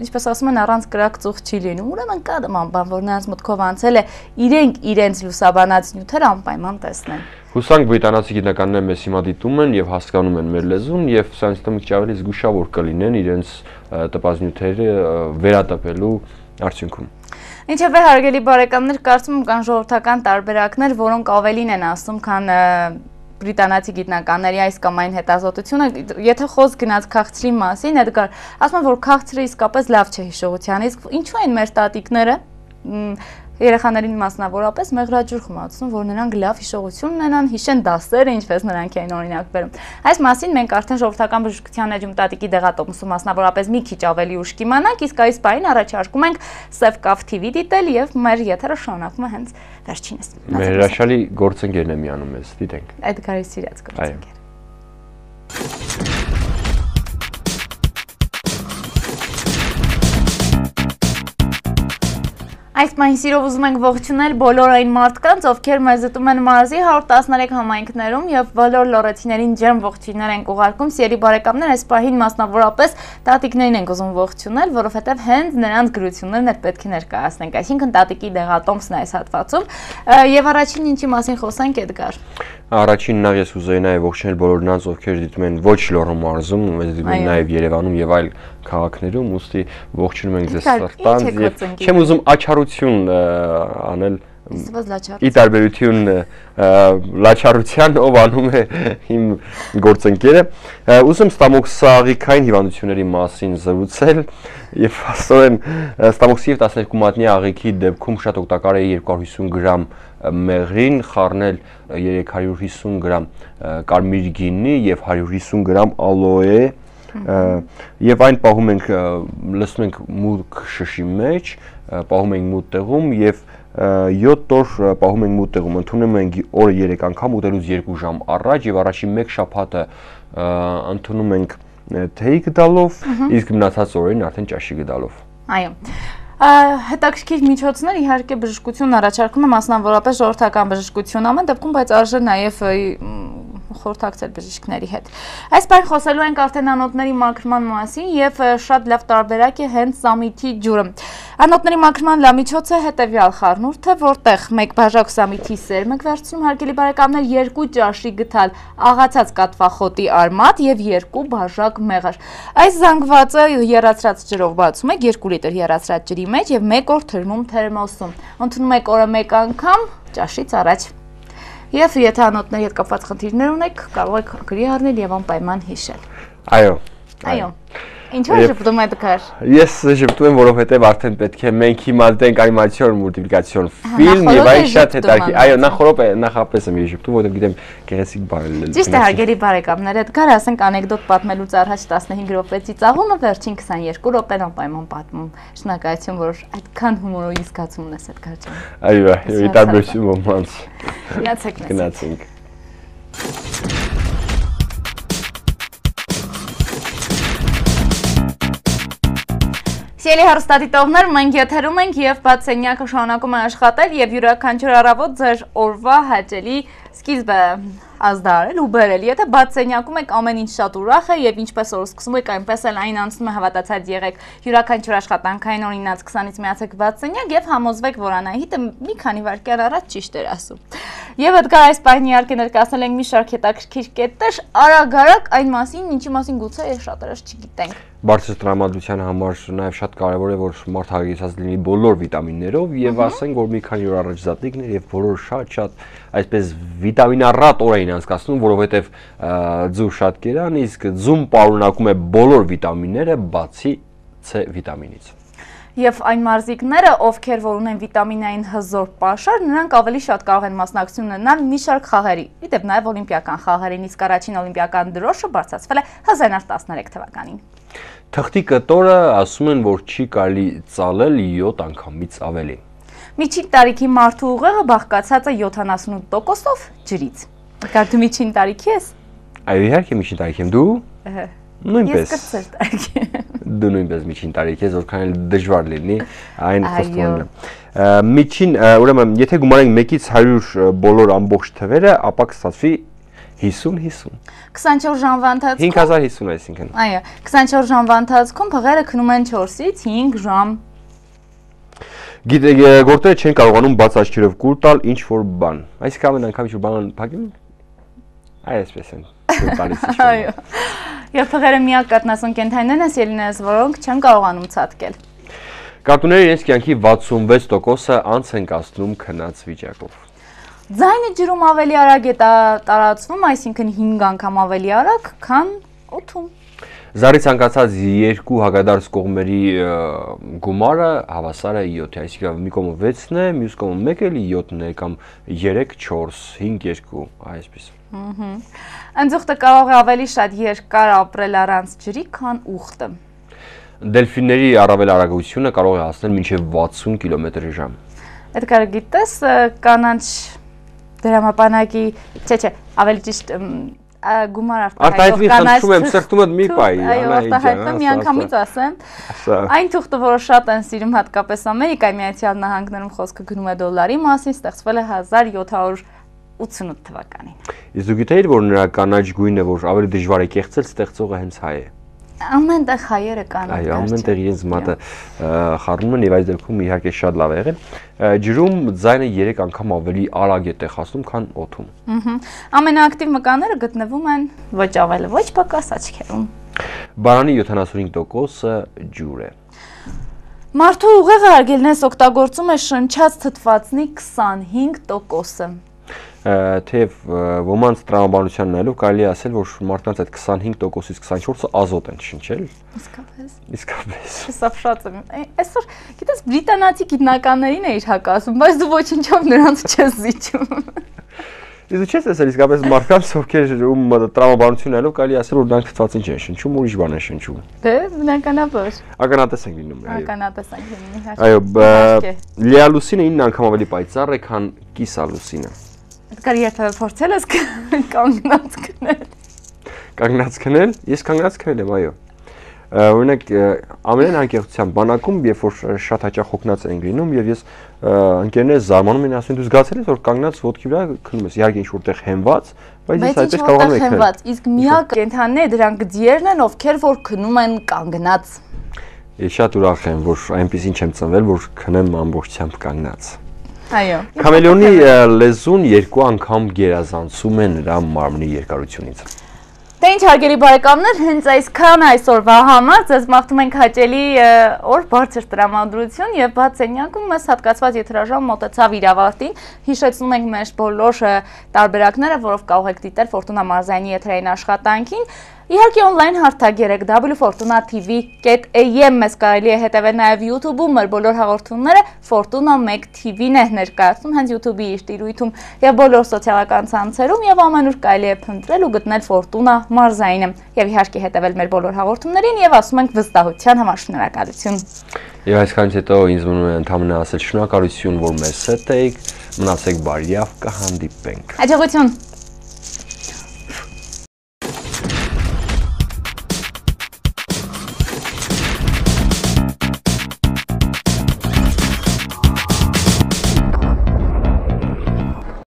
ինչպես ասում են, առանց կրակ ծուխ չի լինում։ Ուրեմն կա նման բան, որ նրանց մտքով անցել է, իրենք իրենց լուսաբանած նյութերը անպայման տեսնեն։ Հուսանք բրիտանացի գիտնականները մեզ հիմա դիտում են եւ հասկանում են մեր լեզուն եւ սրանց մի քիչ ավելի զգուշավոր կլինեն իրենց տպած նյութերը վերատպելու արդյունքում։ Ինչևէ, հարգելի բարեկամներ, կարծում եմ կան ժողովրդական տարբերակներ, որոնք ավելին են ասում, քան բրիտանացի գիտնականների այս կամ այն հետազոտությունը, եթե խոսք գնաց քաղցրի մասին, Էդգար, ասում եմ, որ քաղցրը իսկապես լավ չէ հիշողության, իսկ ինչու են մեր տատիկները երեխաներին մասնավորապես մեղրաջուր խմացնում, որ նրանք լավ հիշողություն ունենան, հիշեն դասերը, ինչպես նրանք էին օրինակ բերում։ Այս մասին մենք արդեն ժողովրդական բժշկության էջում տատիկի դեղատոմսում մասնավորապես մի քիչ ավելի ուշ կիմանանք, իսկ այս պահին առաջարկում ենք Սևկավ թի վի դիտել եւ մեր եթերը շարունակում է հենց վերջինս։ Մեր հրաշալի գործընկերն է միանում մեզ, դիտենք։ Էդգարի սիրած գործընկեր։ Այս պահին սիրով ուզում ենք ողջունել բոլոր այն մարդկանց, ովքեր մեզ դիտում են մարզի հարյուր տասներեք համայնքներում եւ բոլոր լոռեցիներին ջերմ ողջույններ ենք ուղարկում։ Սիրելի բարեկամներ, այս պահին մասնավորապես տատիկներին ենք ուզում ողջունել, որովհետեւ հենց նրանց գրություններն էլ պետք է ներկայացնենք։ Այսինքն տատիկի դեղատոմսն է այս հատվածում։ Եվ առաջին ինչի մասին խոսենք, Էդգար։ Առաջին նախ ես ուզեի նաև ողջունել բոլոր նրանց, ովքեր դիտում են ոչ Լոռու մարզում, մեզ դիտում են նաև Երևանում եւ այլ քաղաքներում, ուստի ողջունում ենք ձեզ սրտանց եւ չեմ ուզում աչառություն անել ի տարբերություն լաչառության, ով անում է իմ գործընկերը, ուզում ստամոքսաղիքային հիվանդությունների մասին զրուցել եւ աստորեն ստամոքսի եւ տասներկու մատնի աղիքի դեպքում շատ օգտակար է երկու հարյուր հիսուն գրամ մեղրին խառնել երեք հարյուր հիսուն գրամ կարմիր գինի եւ հարյուր հիսուն գրամ ալոե եւ այն պահում ենք լցնում ենք մուգ շշի մեջ, պահում ենք մութ տեղում եւ յոթ օր պահում ենք մութ տեղում, ընդունում ենք օրը երեք անգամ ուտելուց երկու ժամ առաջ եւ առաջին մեկ շաբաթը ընդունում ենք թեյ գդալով, իսկ մնացած օրերին արդեն ճաշի գդալով։ Այո։ Հետաքրքիր միջոցներ իհարկե բժշկություն առաջարկում է մասնավորապես ժողովրդական բժշկություն ամեն դեպքում, բայց արժե նաև խորհրդակցել բժիշկների հետ։ Այս բան խոսելու ենք արդեն անոթների մաքրման մասին եւ շատ լավ տարբերակ է հենց սամիթի ջուրը։ Անոթների մաքրման լավ միջոց է հետեւյալ խառնուրդը, որտեղ մեկ բաժակ սամիթի սերմ եք վերցնում, հարգելի բարեկամներ, երկու ճաշի գթալ աղացած կատվախոտի արմատ եւ երկու բաժակ մեղր։ Այս զանգվածը եռացրած ջրով բացում եք երկու լիտր եռացրած ջրի մեջ եւ մեկ օր թրմում թերմոսում։ Ընդունում եք օրը մեկ անգամ ճաշից առաջ։ Եվ եթե անոթների հետ կապված խնդիրներ ունեք, կարող եք գրի առնել եւ անպայման հիշել։ Այո։ Այո։ Ինչու է շփոթում Էդգար։ Ես շփոթում եմ, որովհետեւ արդեն պետք է մենք հիմա դենք անիմացիոն մուլտիպլիկացիոն ֆիլմ եւ այն շատ հետաքրքիր։ Այո, նախորդ նախապես եմ շփոթում, որովհետեւ գիտեմ գեղեցիկ բան է։ Ճիշտ է, հարգելի բարեկամներ, Էդգար, ասենք անեկդոտ պատմելուց առաջ տասնհինգ րոպեի ծաղումը վերջին քսաներկու րոպեն անպայման պատմում։ Շնորհակալություն, որ այդքան հումորի զգացում ունես Էդգար ջան։ Այո, ի տարբերություն ոմանց։ Գնացեք մեզ։ Գնացինք։ Սիրելի հեռուստադիտողներ, մենք եթերում ենք եւ բաց սենյակը շարունակում է աշխատել եւ յուրաքանչյուր առավոտ ձեր օրվա հաճելի սկիզբը ազդարել ու բերել։ Եթե բաց սենյակում եք ամեն ինչ շատ ուրախ է եւ ինչպես որ սկսում եք, այնպես էլ այն անցնում է, հավատացած եղեք յուրաքանչյուր աշխատանքային օրինաց քսանից միացեք բաց սենյակ եւ համոզվեք, որ Անահիտը մի քանի վայրկյան առաջ ճիշտ էր ասում։ Եվ Էդգար այս պահին իհարկե ներկայացնել ենք մի շարք հետաքրքիր կետեր, արագ-արագ այն մասին, ինչի մասին գուցե շատերս չգիտենք։ Բարձր տրամադրության համար նաև շատ կարևոր է, որ մարդ հագեցած լինի բոլոր վիտամիններով եւ ասենք, որ մի քանի օր առաջ զատիկներ եւ բոլոր շատ-շատ այսպես վիտամինառատ օր էին անցկացնում, որովհետեւ ձու շատ կերան, իսկ ձուն պարունակում է բոլոր վիտամինները, բացի C վիտամինից։ Եվ այն մարզիկները, ովքեր որ ունեն վիտամինային հզոր պաշար, նրանք ավելի շատ կարող են մասնակցություն ունենալ մի շարք խաղերի։ Իդեպ նաև օլիմպիական խաղերին, իսկ առաջին օլիմպիական դրոշը բարձրացվել է հազար իննսուն տասներեք թվականին։ Թղթի կտորը ասում են, որ չի կարելի ծալել յոթ անգամից ավելի։ Միջին տարիքի մարդու ուղեղը բաղկացած է յոթանասունութ տոկոսով ջրից։ Կարդ դու միջին տարիքի ես։ Այո, իհարկե միջին տարիքի եմ, դու։ Նույնպես։ Ես կրտսեր տարիքի եմ։ Դու նույնպես միջին տարիքի ես, որքան էլ դժվար լինի այն խոստովանելը։ Միջին, ուրեմն, եթե գումարենք մեկից հարյուր բոլոր ամբողջ թվերը, ապա կստացվի հիսուն հիսուն։ քսանչորս ժամվա ընթացքում հինգ հազար հիսուն այսինքն։ Այո, քսանչորս ժամվա ընթացքում փղերը քնում են չորսից հինգ ժամ։ Գիտեք, գործերը չեն կարողանում բաց աչքերով կուլ տալ ինչ որ բան։ Այսինքն ամեն անգամ ինչ որ բան փակում են։ Այսպես են։ Այո։ Եվ փղերը միակ կատնասուն կենդանիներն են ելինես, որոնք չեն կարողանում ցատկել։ Կատուները իրենց կյանքի վաթսունվեց տոկոսը անց են կացնում քնած վիճակով։ Ձայնը ջրում ավելի արագ է տարածվում, այսինքն հինգ անգամ ավելի արագ, քան օդում։ Զարի ցանկացած երկու հակադարձ կողմերի գումարը հավասար է յոթի, այսինքն մի կողմը վեցն է, մյուս կողմը մեկ էլի յոթն է կամ երեք, չորս, հինգ, երկու, այսպես։ Ընձուղտը կարող է ավելի շատ երկար ապրել առանց ջրի, քան ուղտը։ Դելֆինների առավել արագությունը կարող է հասնել մինչև վաթսուն կիլոմետր ժամ։ Էդգար գիտես կանանչ դրամապանակի, չէ, չէ, ավելի ճիշտ գումար արտահայտվի խնդրում եմ սրտումդ մի պայի, այո, արտահայտվեմ մի անգամից ասեմ, այն թուղթը, որը շատ են սիրում հատկապես Ամերիկայի Միացյալ Նահանգներում խոսքը գնում է դոլարի մասին, ստեղծվել է հազար յոթ հարյուր ութսունութ թվականին։ Իսկ դու գիտեիր, որ նրա կանաչ գույնը, որ ավելի դժվար է կեղծել, ստեղծողը հենց հայ է։ Ամենտեղ հայերը կան։ Այո, ամենտեղ իրենց մատը խառնում են եւ այս դեպքում իհարկե շատ լավ է եղել։ Ջրում ձայնը երեք անգամ ավելի արագ է տեղացնում, քան օդում։ Ահա։ Ամենաակտիվ մկանները գտնվում են ոչ ավելի ոչ պակաս աչքերում։ Բարանի յոթանասունհինգ տոկոսը ջուր է։ Մարդու ուղեղը արգելնես օգտագործում է շնչած թթվածնի քսանհինգ տոկոսը։ Թեև ոմանց տրամաբանության նայելով կարելի է ասել, որ մարդկանց այդ քսանհինգ տոկոսից քսանչորսը ազոտ են շնչել։ Իսկապես։ Իսկապես։ Սափշած եմ։ Այսօր գիտես բրիտանացի գիտնականներին է իր հակասում, բայց դու ոչինչով նրանց չես զիջում։ Իսկ չես ասել իսկապես մարդկանց, ովքեր ում տրամաբանություն նայելով կարելի է ասել, որ նրանք թթվածին չեն շնչում, ուրիշ բան են շնչում։ Դե, բնականաբար։ Ականատես են լինում, այո։ Ականատես են լինում, իհարկե։ Այո, լիալուսինը ինը անգամ ավելի պայծառ է, քան կիսալուսինը։ Edgar երբևէ փորձել ես կանգնած քնել։ Կանգնած քնել։ Ես կանգնած քնել եմ, այո։ Օրինակ ամենայն անկեղծության բանակում, երբ որ շատ հաճախ հոգնած ենք լինում եւ ես ընկերներս զարմանում են, ասում են դու զգացել ես որ կանգնած ոտքի վրա քնում ես, իհարկե ինչ որտեղ հենված, բայց ես այդպես կարողանում եմ քնել։ Իսկ միակ կենդանիները դրանք ձիերն են, ովքեր որ քնում են կանգնած։ Ես շատ ուրախ եմ, որ այնպեսին չեմ ծնվել, որ քնեմ ամբողջությամբ կանգնած։ Այո։ Քամելեոնի լեզուն երկու անգամ գերազանցում է նրա մարմնի երկարությունից։ Դե ինչ հարգելի բարեկամներ, հենց այսքան այսօրվա համար ձեզ մաղթում ենք հաճելի օր, բարձր տրամադրություն եւ բաց սենյակում մեզ հատկացված եթերաժամ մոտեցավ իր ավարտին։ Հիշեցնում ենք մեր բոլոր տարբերակները, որով կարող եք դիտել Ֆորտունա մարզայինի եթերային աշխատանքին։ Իհարկե on-line հարթակերեք w fortuna t v dot a m մեզ կարելի է հետևել նաև YouTube-ում, մեր բոլոր հաղորդումները Fortuna մեկ T V-ն է ներկայացնում հենց YouTube-ի իր տիրույթում եւ բոլոր սոցիալական ցանցերում եւ ամենուր կարելի է փնտրել ու գտնել Fortuna մարզայինը եւ իհարկե հետևել մեր բոլոր հաղորդումներին եւ ասում ենք վստահության համար շնորհակալություն։ Եվ այսքանից հետո ինձ մնում է ընդհանրապես ասել շնորհակալություն, որ մեզ հետ եք, մնացեք բարյավ, կհանդիպենք։ Հաջողություն։